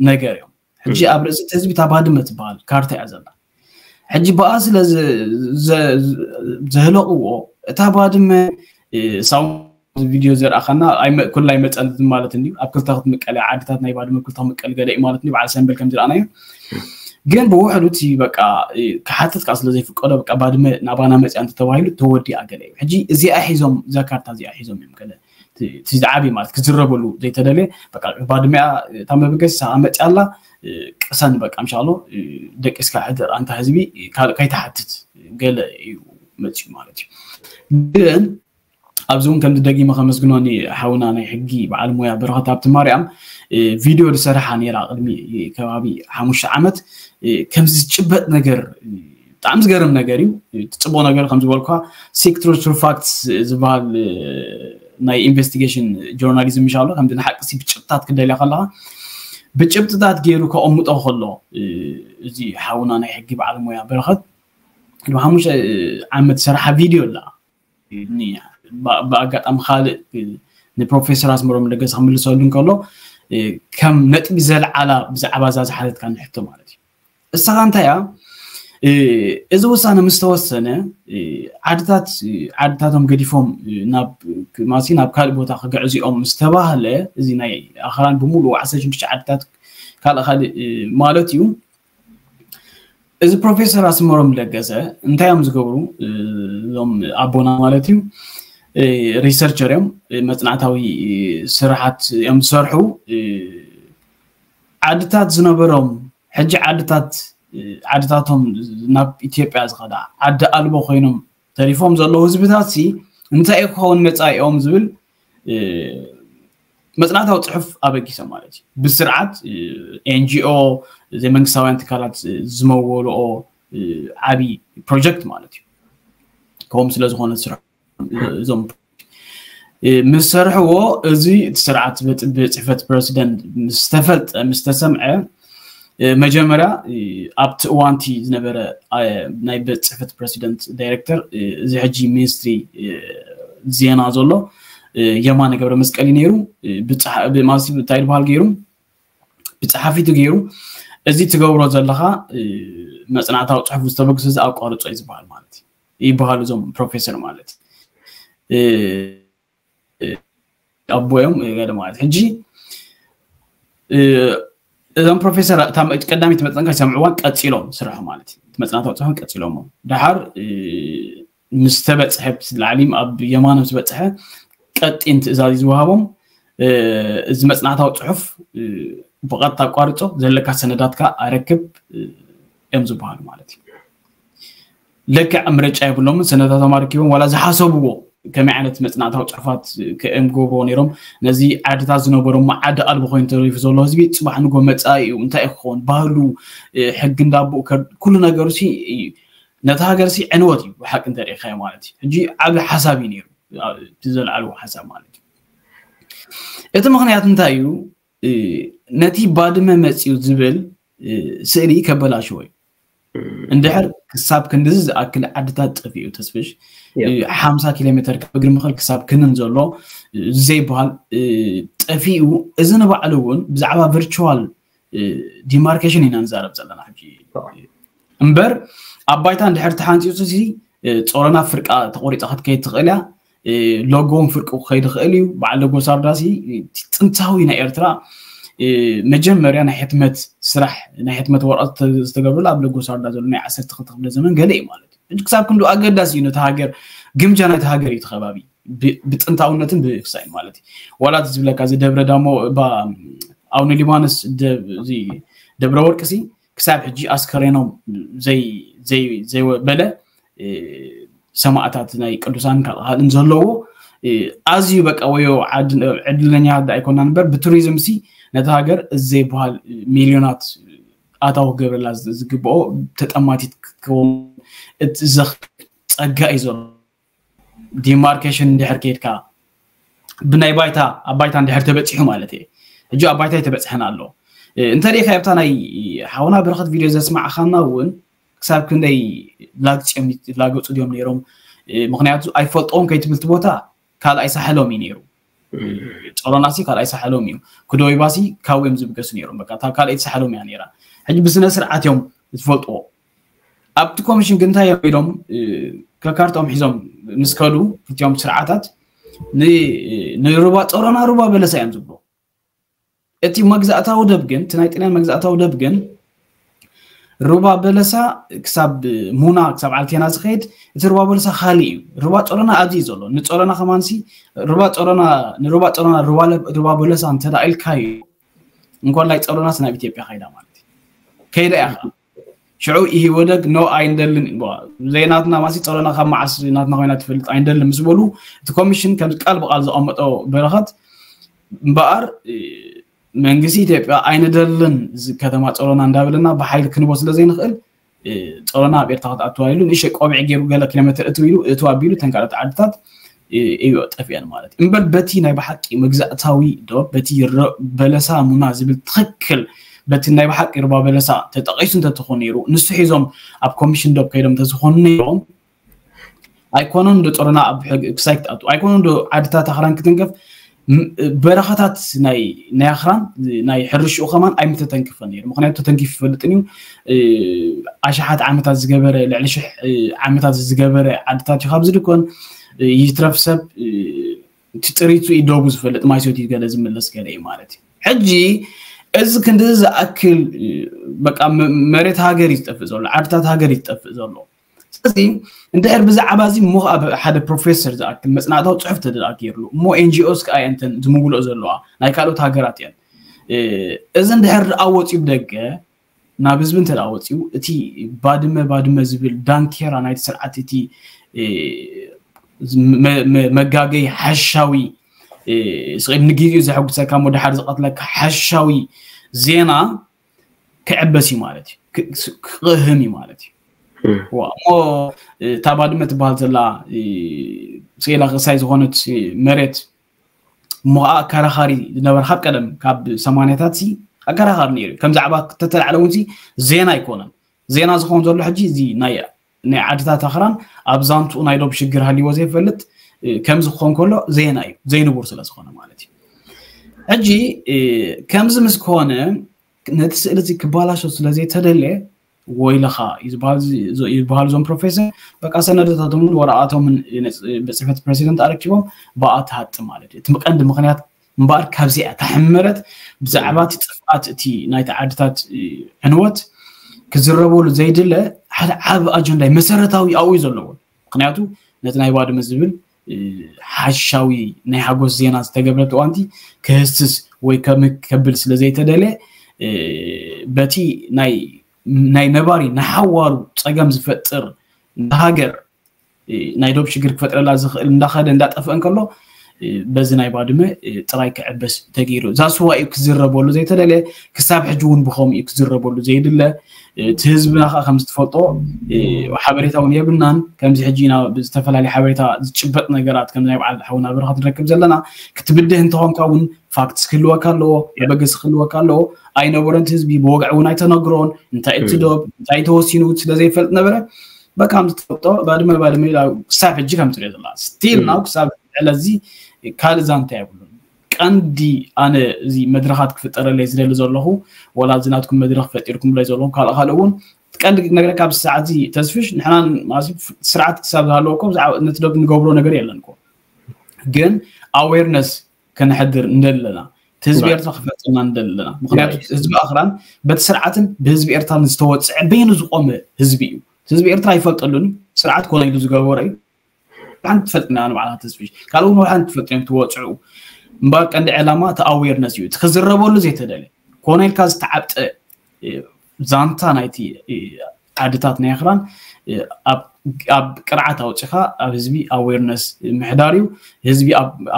ነገር እዮም ሕጂ ኣብ ርእሲ እቲ ህዝቢ እታ ባድመ ትበሃል ካርታ እያ ዘላ ሕጂ ብኣ ስለ ዘህለቕዎ እታ ባድመ ሳው ቪድዮ ዘርኣኻና ኩላ ኣይመፀለትን ማለት እንድዩ ኣብ ክልተ ክትምቀል ዓድታት ናይ ባድመ ክልተ ክምቀል ገለ እዩ ማለት እንድዩ በዓል ሰንበል ከም ዝረኣናዮ ግን ብውሕዱ እቲ በቃ ክሓትት ከዓ ስለ ዘይፍቀዶ በቃ ባድመ ናባና መፅያ እንተተባሂሉ ተወዲኣ ገለ እዩ ሕጂ እዚኣ ሒዞም እዛ ካርታ እዚኣ ሒዞም እዮም ገለ እቲ ዝዓብይ ማለት ክዝረበሉ ዘይተደልየ በቃ ባድመያ እታ መበገሲ ሰኣ መፅያ ኣላ ቅሰን በቃ ምሻሎ ደቂስካ ሕደር ኣንታ ህዝቢ ካልእ ከይትሓትት ገለ እዩ መፅዩ ማለት እዩ ግን ኣብዚ እውን ከምዚ ደጊመ ከመስግኖኒ ሓውና ናይ ሕጊ በዓል ሙያ በረኸት ኣብቲ ማርያም ቪድዮ ዝሰርሓ ነራ ቅድሚ ከባቢ ሓሙሽተ ዓመት ከምዚ ዝጭበጥ ነገር ብጣዕሚ ዝገርም ነገር እዩ ትፅቡቅ ነገር ከም ዝበልኳ ሲክ ትሩዝ ትሩ ፋክትስ ዝበሃል ናይ ኢንቨስቲጌሽን ጆርናሊዝም ምሻሎ ከምዚ ንሓቂ ብጭብጥታት ክደልያ ከለካ ብጭብጥታት ገይሩ ከቐምጦ ከሎ እዚ ሓውና ናይ ሕጊ በዓል ሙያ በረኸት ቅድሚ ሓሙሽተ ዓመት ዝሰራሓ ቪድዮ ኣላ። ብኣጋጣሚ ካልእ ንፕሮፌሰር ኣስመሮም ለገሰ ክምልሰሉ እንከሎ ከም ነጥቢ ዘልዓላ ብዛዕባ እዛ ዝሓተትካ ንሕቶ ማለት እዩ። እሳኻ እንታይ እያ? እዚ ውሳነ ምስ ተወሰነ ዓድታት ዓድታቶም ገዲፎም ናብ ማሲ ናብ ካልእ ቦታ ክግዕዙ እዮም ምስ ተባህለ፣ እዚ ናይ ኣኽራን ብምሉእ ዓሰርተ ሽዱሽተ ዓድታት ካልእ ካልእ ማለት እዩ። እዚ ፕሮፌሰር ኣስመሮም ለገሰ እንታይ እዮም ዝገብሩ? እዞም ኣቦና ማለት እዩ፣ ሪሰርቸር እዮም፣ መፅናዕታዊ ስራሓት እዮም ዝሰርሑ። ዓድታት ዝነበሮም ሕጂ ዓድታት ዓድታቶም ናብ ኢትዮጵያ ዝኸዳ ዓዲ ኣልቦ ኮይኖም ተሪፎም ዘለዉ ህዝብታት ሲ እንታይ ክኸውን መጻኢኦም ዝብል መጽናዕታዊ ጽሑፍ ኣበጊሶም ማለት እዩ። ብስርዓት ኤንጂኦ ዘይመንግስታውያን ትካላት ዝመወልኦ ዓቢ ፕሮጀክት ማለት እዩ። ከምኡ ስለ ዝኾነ ስራሕ እዞም ምስ ሰርሕዎ እዚ እቲ ስርዓት ቤት ጽሕፈት ፕረሲደንት ምስ ተፈልጠ ምስ ተሰምዐ መጀመርያ ኣብቲ እዋንቲ ዝነበረ ናይ ቤት ጽሕፈት ፕረሲደንት ዳይሬክተር እዚ ሕጂ ሚኒስትሪ ዜና ዘሎ የማነ ገብረ መስቀል እዩ ነይሩ። ብማሲ እንታይ ዝበሃል ገይሩ ብጸሓፊቱ ገይሩ እዚ ትገብሮ ዘለኻ መጽናዕታዊ ጽሑፍ ዝተበግሱ እዚ ኣቋርጾ እዩ ዝበሃል ማለት እዩ። ይበሃሉ እዞም ፕሮፌሰር ማለት ኣቦዮም ገለ ማለት ሕጂ እዞም ፕሮፌሰር ቀዳሚት መጠንካ ሰምዕዋን ቀፂሎም ስርሑ ማለት እዩ። መፅናዕታዊ ፅሑፎም ቀፂሎሞ ድሓር ምስ ተበፅሐ ላዕሊ ኣብ የማኖም ዝበፅሐ ቀጢን ትእዛዝ ዝወሃቦም እዚ መፅናዕታዊ ፅሑፍ ብቐጥታ ኣቋርፆ ዘለካ ሰነዳትካ ኣረክብ እዮም ዝበሃሉ ማለት እዩ። ለክዕ ምርጫ የብሎምን። ሰነዳቶም ኣረኪቦም ዋላ ዝሓሰብዎ ከመይ ዓይነት መፅናዕታዊ ፅሑፋት ከእም ገብርዎ ነይሮም። ነዚ ዓድታት ዝነበሮሞ ዓዲ ኣልቦ ኮይኑ ተሪፉ ዘሎ ህዝቢ ፅባሕ ንጎ መፃኢ እዩ እንታይ ክኸውን ባህሉ ሕጊ እንዳቦ ኩሉ ነገሩ ሲ ነቲ ሃገር ሲ ዕንወት እዩ ብሓቂ እንተሪኢኻዮ ማለት እዩ። ሕጂ ዓብ ሓሳብ እዩ ነይሩ እቲ ዘልዓልዎ ሓሳብ ማለት እዩ። እቲ ምክንያት እንታይ እዩ? ነቲ ባድመ መፅዩ ዝብል ስእሊ ከበላሽዎ እዩ። እንድሕር ክሳብ ክንድዚ ዝኣክል ዓድታት ጠፊኡ ተስፍሽ ሓምሳ ኪሎ ሜትር ካብ እግሪ ምኽል ክሳብ ክንን ዘሎ ዘይበሃል ጠፊኡ። እዚ ንባዕሉ እውን ብዛዕባ ቨርቹዋል ዲማርኬሽን ኢና ንዛረብ ዘለና ሕጂ እምበር ኣብ ባይታ እንድሕር ተሓንፂፁ ሲ ፆረና ፍርቃ ተቆሪፃ ክትከይድ ትኽእል እያ። ሎጎ እውን ፍርቂ ክኸይድ ይኽእል እዩ። በዓል ሎጎ ሳርዳ ሲ ጥንታዊ ናይ ኤርትራ መጀመርያ ናይ ሕትመት ስራሕ ናይ ሕትመት ወረቐት ዝተገብረሉ ኣብ ሎጎ ሳርዳ ዘሎ ናይ ዓሰርተ ክልተ ክፍለ ዘመን ገለ እዩ ማለት እዩ። ክሳብ ክንዱ ኣገዳሲ እዩ ነቲ ሃገር ግምጃ ናይቲ ሃገር እዩ እቲ ከባቢ ብጥንታውነትን ብክሳይን ማለት እዩ። ዋላ ዝብለካ እዚ ደብረ ዳሞ ኣውነ ሊባኖስ ደብረ ወርቂ ሲ ክሳብ ሕጂ ኣስከሬኖም ዘይበለ ሰማእታት ናይ ቅዱሳን ካልእን ዘለዎ ኣዝዩ በቃ ወዮ ዕድለኛ ዳ ኣይኮና እምበር ብቱሪዝም ሲ ነቲ ሃገር እዚ ዘይበሃል ሚልዮናት ኣታዊ ክገብረላ ዝግብኦ ተጠማቲት ክትከውን እቲ ዘኽእል ጸጋ እዩ ዘሎ። ዲማርኬሽን እንድሕር ከይድካ ብናይ ባይታ ኣብ ባይታ እንድሕር ተበፂሑ ማለት እየ። ሕጂ ኣብ ባይታ የተበፅሐን ኣሎ እንተሪኢካ ኣብታ ናይ ሓውና በረኸት ቪድዮ ዘስማዕኻና እውን ክሳብ ክንደይ ላግፂኦም ላገፁ ድዮም ነይሮም። ምክንያቱ ኣይፈልጠዎም ከይትብል እቲ ቦታ ካልኣይ ሳሕሎም እዩ ነይሩ። ጨሮናሲ ካልኣይ ሳሕሎም እዩ። ክደወይባሲ ካብኡ እዮም ዝብገሱ ነይሮም። በቃ እታ ካልኣይቲ ሳሕሎም እያ ነይራ። ሕጂ ብስነ ስርዓት እዮም ዝፈልጥዎ። ኣብቲ ኮሚሽን ግን እንታይ እዮም ኢሎም ከካርታኦም ሒዞም ምስ ከዱ ክልቲኦም ስርዓታት ንሩባ ጸሮና ሩባ በለሳ እዮም ዝብሉ። እቲ መግዛእታዊ ደብ ግን እቲ ናይ ጥልያን መግዛእታዊ ደብ ግን ሩባ በለሳ ክሳብ ሙና ክሳብ ዓልቴና ዝኸይድ እቲ ሩባ በለሳ ካልእ እዩ። ሩባ ጸሮና ኣብዚ እዩ ዘሎ። ንጸሮና ከማንሲ ሩባ ጸሮና ንሩባ ጸሮና ሩባ በለሳ እንተ ኢልካዮ እንኮላይ ጸሮናስ ናብ ኢትዮጵያ ከይዳ ማለት እዩ። ከይዳ እያ ሽዑ ኢህወደግ ኖ ኣይንደልን ዘይናትና ማሲ ጸሮና ካብ መዓስ ናትና ኮይና ትፈልጥ ኣይንደልን ምስ በሉ እቲ ኮሚሽን ከም ቃል ብቃል ዘቐመጦ በረኸት እምበኣር መንግስቲ ኢትዮጵያ ኣይንደልን ከተማ ጸሮና እንዳበለና ብሓይሊ ክንቦ ስለ ዘይንኽእል ጸሮና ኣብ ኤርትራ ክትኣትዋ ኢሉ ንእሽተይ ቆቢዕ ገይሩ ገለ ኪሎ ሜትር እትው ኢሉ እትው ኣቢሉ እተን ካልኦት ዓድታት እዩ ጠፊአን ማለት እዩ። እምበር በቲ ናይ ብሓቂ መግዛእታዊ ዶ በቲ በለሳ ሙና ዝብል ትኽክል በቲ ናይ ብሓቂ ሩባ በለሳ ተጠቒሱ እንተትኾን ነይሩ፣ ንሱ ሒዞም ኣብ ኮሚሽን ዶብ ከይዶም እንተዝኾኑ ነይሮም፣ ኣይኮነን ዶ ጦርና ኣብ ሕግ ክሳይ ክትኣቱ፣ ኣይኮነን ዶ ዓድታት ኣኽራን ክትንከፍ፣ ም- በረኻታት ናይ ናይ ኣኽራን ናይ ሕርሽኡ ከማን ኣይምተተንክፈን ነይሩ። ምክንያቱ ተተንኪፉ ይፈልጥን እዩ። እ፣ ኣሽሓት ዓመታት ዝገበረ፣ ልዕሊ ሽሕ እ፣ ዓመታት ዝገበረ ዓድታት እዩ። ካብዚ ድኮን እ፣ ይትረፍ ሰብ እ፣ እቲ ጥሪቱ እዩ ዶቡ ዝፈልጥ፣ ማይ ሰትዩ ገለ ዝምለስ ገለ እዩ ማለት እዩ። ሕጂ እዚ ክንዲ ዝኣክል እ፣ በቃ መ- መሬት ሃገር እዩ ዝጠፍእ ዘሎ፣ ዓድታት ሃገር እዩ ዝጠፍእ ዘሎ። ስለዚ እንድሕር ብዛዕባ እዚ እሞ ኣብ ሓደ ፕሮፌሰር ዝኣክል መፅናዕታዊ ፅሑፍ ተደኣኪርሉ እሞ ኤንጂኦስ ከዓ እየን እተን ዝምውልኦ ዘለዋ ናይ ካልኦት ሃገራት እየን። እ፣ እዚ እንድሕር ደኣ ወፂኡ ብደገ ናብ ህዝቢ እንተ ደኣ ወፂኡ እቲ ባድመ ባድመ ዝብል ዳንኬራ ናይቲ ስርዓት እቲ እ፣ መ- መ- መጋገይ ሓሻዊ እ፣ ስቕ ኢሉ ንግዜኡ ዘሐጉሰካ እሞ ድሓር ዝቐትለካ ሓሻዊ ዜና ክዕበስ እዩ ማለት እዩ። ክ- ክቕህም እዩ ማለት እዩ። ዋ፣ እሞ እታ ባድመ ትበሃል ዘላ እ፣ ስኢላ ክሳይ ዝኾነት እ፣ መሬት እሞ ከዓ ኣከራኻሪ ዝነበረ ካብ ቀደም ካብ ሰማንያታት ሲ ኣከራኻሪ ነይሩ እዩ። ከም ዛዕባ ተተላዕለ እውን ሲ ዜና ኣይኮነን። ዜና ዝኸውን ዘሎ ሕጂ እዚ ናይ ናይ ዓድታት ኣኽራን ኣብ ዛንትኡ ናይ ዶብ ሽግር ሃልይዎ ዘይፈልጥ እ፣ ከምዚ ክኾን ከሎ ዜና እዩ፣ ዘይንቡር ስለ ዝኾነ ማለት እዩ። ሕጂ እ፣ ከምዚ ምስ ኮነ ነቲ ስእሊ እዚ ክባላሾ ስለ ዘይተደልየ ወይለኻ እዩ ዝበሃል፣ እዚ- እዚ- ይበሃሉ እዞም ፕሮፌሰር። በቃ ሰነዶታቶምን ወረቓቶምን ነፅ- ቤት ፅሕፈት ፕሬዚደንት ኣረኪቦም ብኣ ትሃጥ ማለት እዩ። እቲ ቀንዲ ምክንያት እምበኣር ካብዚኣ እታ ሕመረት ብዛዕባ እቲ ጥፍኣት እቲ ናይቲ ዓድታት እ፣ ዕንወት ክዝረበሉ ዘይድለ ሓደ ዓቢ ኣጀንዳ እዩ፣ መሰረታዊ ኣብኡ እዩ ዘለዎ። ምክንያቱ ነቲ ናይ ባድመ ዝብል እ፣ ሓሻዊ ናይ ሓጎስ ዜና ዝተገብረ ተዋንቲ ክህስስ ወይ ከም- ከብል ስለ ዘይተደለ እ፣ በቲ ናይ ናይ ነባሪ ንሓዋሩ ፀገም ዝፈጥር ንሃገር እ፣ ናይ ዶብ ሽግር ክፈጥረላ ዝኽእል እንዳኸደ እንዳጠፍአ እንከሎ እ፣ በዚ ናይ ባድመ እ፣ ጥራይ ክዕበስ ተገይሩ። እዛ ስዋ እዩ ክዝረበሉ ዘይተደለ፣ ክሳብ ሕጂ እውን ብኸምኡ እዩ ክዝረበሉ ዘይድለ። እ፣ እቲ ህዝብና ከዓ ከም ዝትፈልጦ እ፣ ሓበሬታ እውን የብልናን። ከምዚ ሕጂ ኢና ብዝተፈላለየ ሓበሬታ ዝጭበጥ ነገራት ከም ናይ በዓል ሓውና በረኸት ንረክብ ዘለና። ክትብድህ እንተኾንካ እውን ፋክትስ ክህልወካ ኣለዎ፣ መበገሲ ክህልወካ ኣለዎ። ኣይነበረን እቲ ህዝቢ ብወግዒ እውን ኣይተነግሮን። እንታይ እቲ ዶብ እንታይ ተወሲኑ ስለ ዘይፈልጥ ነበረ። በቃ ከም ዝትፈልጦ ባድመ ባድመ ኢላ ክሳብ ሕጂ ከም ትሪኦ ዘላ ስቲል ናው ክሳብ ዕለት እዚ ካልእ ዛንታ የብሉን። ቀንዲ ኣነ እዚ መድረኻት ክፍጠረለይ ዝደሊ ዘለኹ ወላ እዚ ናትኩም መድረኽ ፈጢርኩምለይ ዘለኹም ካልእ ካልእ እውን እቲ ቀንዲ ክነግረካ ኣብዚ ሰዓት እዚ ተስፍሽ ንሕና ማለት ስርዓት ክሳብ ዝሃለወ እኮ ብዛዕባ ነቲ ዶብ ንገብሮ ነገር የለን እኮ ግን ኣዌርነስ ከነሕድር እንደለና እቲ ህዝቢ ኤርትራ ክፈልጠና እንደለና ምክንያቱ ህዝቢ ኣኽራን በቲ ስርዓትን ብህዝቢ ኤርትራን ዝተወፅዐ በይኑ ዝቆመ ህዝቢ እዩ ህዝቢ ኤርትራ ኣይፈልጠሉን ስርዓት ኮነ ኢሉ ዝገበሮ እዩ ሓንቲ ትፈልጥና ንባዕላ ተስፍሽ ካልኡ ሓንቲ ትፈልጥ እዮም ትወፅዑ እምበር ቀንዲ ዕላማ እቲ ኣዌርነስ እዩ እቲ ክዝረበሉ ዘይተደለ ኮነ ኢልካ ዝተዓብጠ ዛንታ ናይቲ ዓድታት ናይ ኣኽራን ኣብ ቅርዓት ኣውፂኻ ኣብ ህዝቢ ኣዌርነስ ምሕዳር እዩ ህዝቢ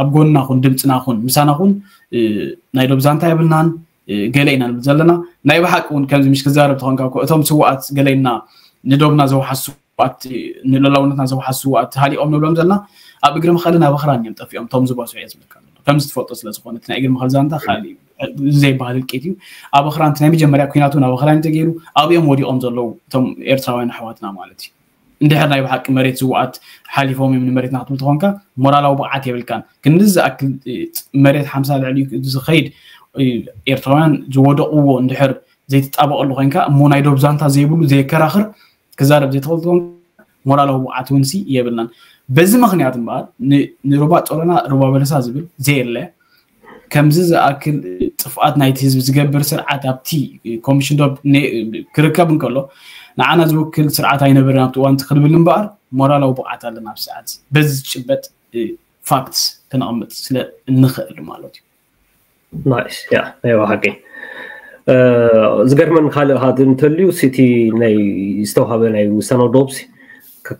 ኣብ ጎንና ኹን ድምፅና ኹን ምሳና ኹን ናይ ዶብ ዛንታ የብልናን ገለ ኢና ንብል ዘለና ናይ ብሓቂ እውን ከምዚ ምሽ ክዛረብ ተኾንካ እቶም ስዋኣት ገለና ንዶብና ዘውሓሱ ስውኣት ንሉላውነትና ዘውሓሱ ስውኣት ሃሊቆም ንብሎም ዘለና ኣብ እግሪ መኸልን ኣብ ኣኽራን እዮም ጠፊኦም እቶም ዝበሱ እየ ዝብለካ ከምዚ ትፈልጦ ስለ ዝኾነ ናይ እግሪ መኸል ዛንታ ካልእ እዩ ዘይበሃል ህልቂት እዩ ኣብ ኣኽራን ናይ መጀመርያ ኩናት እውን ኣብ ኣኽራን ተገይሩ ኣብኦም ወዲቆም ዘለዉ እቶም ኤርትራውያን ኣሕዋትና ማለት እዩ እንድሕር ናይ ብሓቂ መሬት ዝውኣት ሓሊፎም እዮም ንመሬትና ክትብል ተኾንካ ሞራላዊ ብቕዓት የብልካን ክንዲ ዝኣክል መሬት ሓምሳ ልዕሊ ዝኸይድ ኤርትራውያን ዝወደቕዎ እንድሕር ዘይትጣበቐሉ ኮይንካ እሞ ናይ ዶብ ዛንታ ዘይብሉ ዘየከራኽር ክዛረብ ዘይትኽእል ትኾን ሞራላዊ ብቕዓት እውን ሲ የብልናን በዚ ምክንያት እምበኣር ንሩባ ጦረና ሩባ በለሳ ዝብል ዘየለ ከምዚ ዝኣክል ጥፍኣት ናይቲ ህዝቢ ዝገብር ስርዓት ኣብቲ ኮሚሽን ዶብ ክርከብ እንከሎ ንዓና ዝውክል ስርዓት ኣይነበረን ኣብቲ እዋንቲ ክድብል እምበኣር ሞራላዊ ብቕዓት ኣለና ኣብ ሰዓት በዚ ዝጭበጥ ፋክትስ ክነቕምጥ ስለ እንኽእል ማለት እዩ ናይስ ያ ናይ ብሓቂ ዝገርመን ካልእ ሃት እንተልዩ ሲቲ ናይ ዝተዋሃበ ናይ ውሳነ ዶብሲ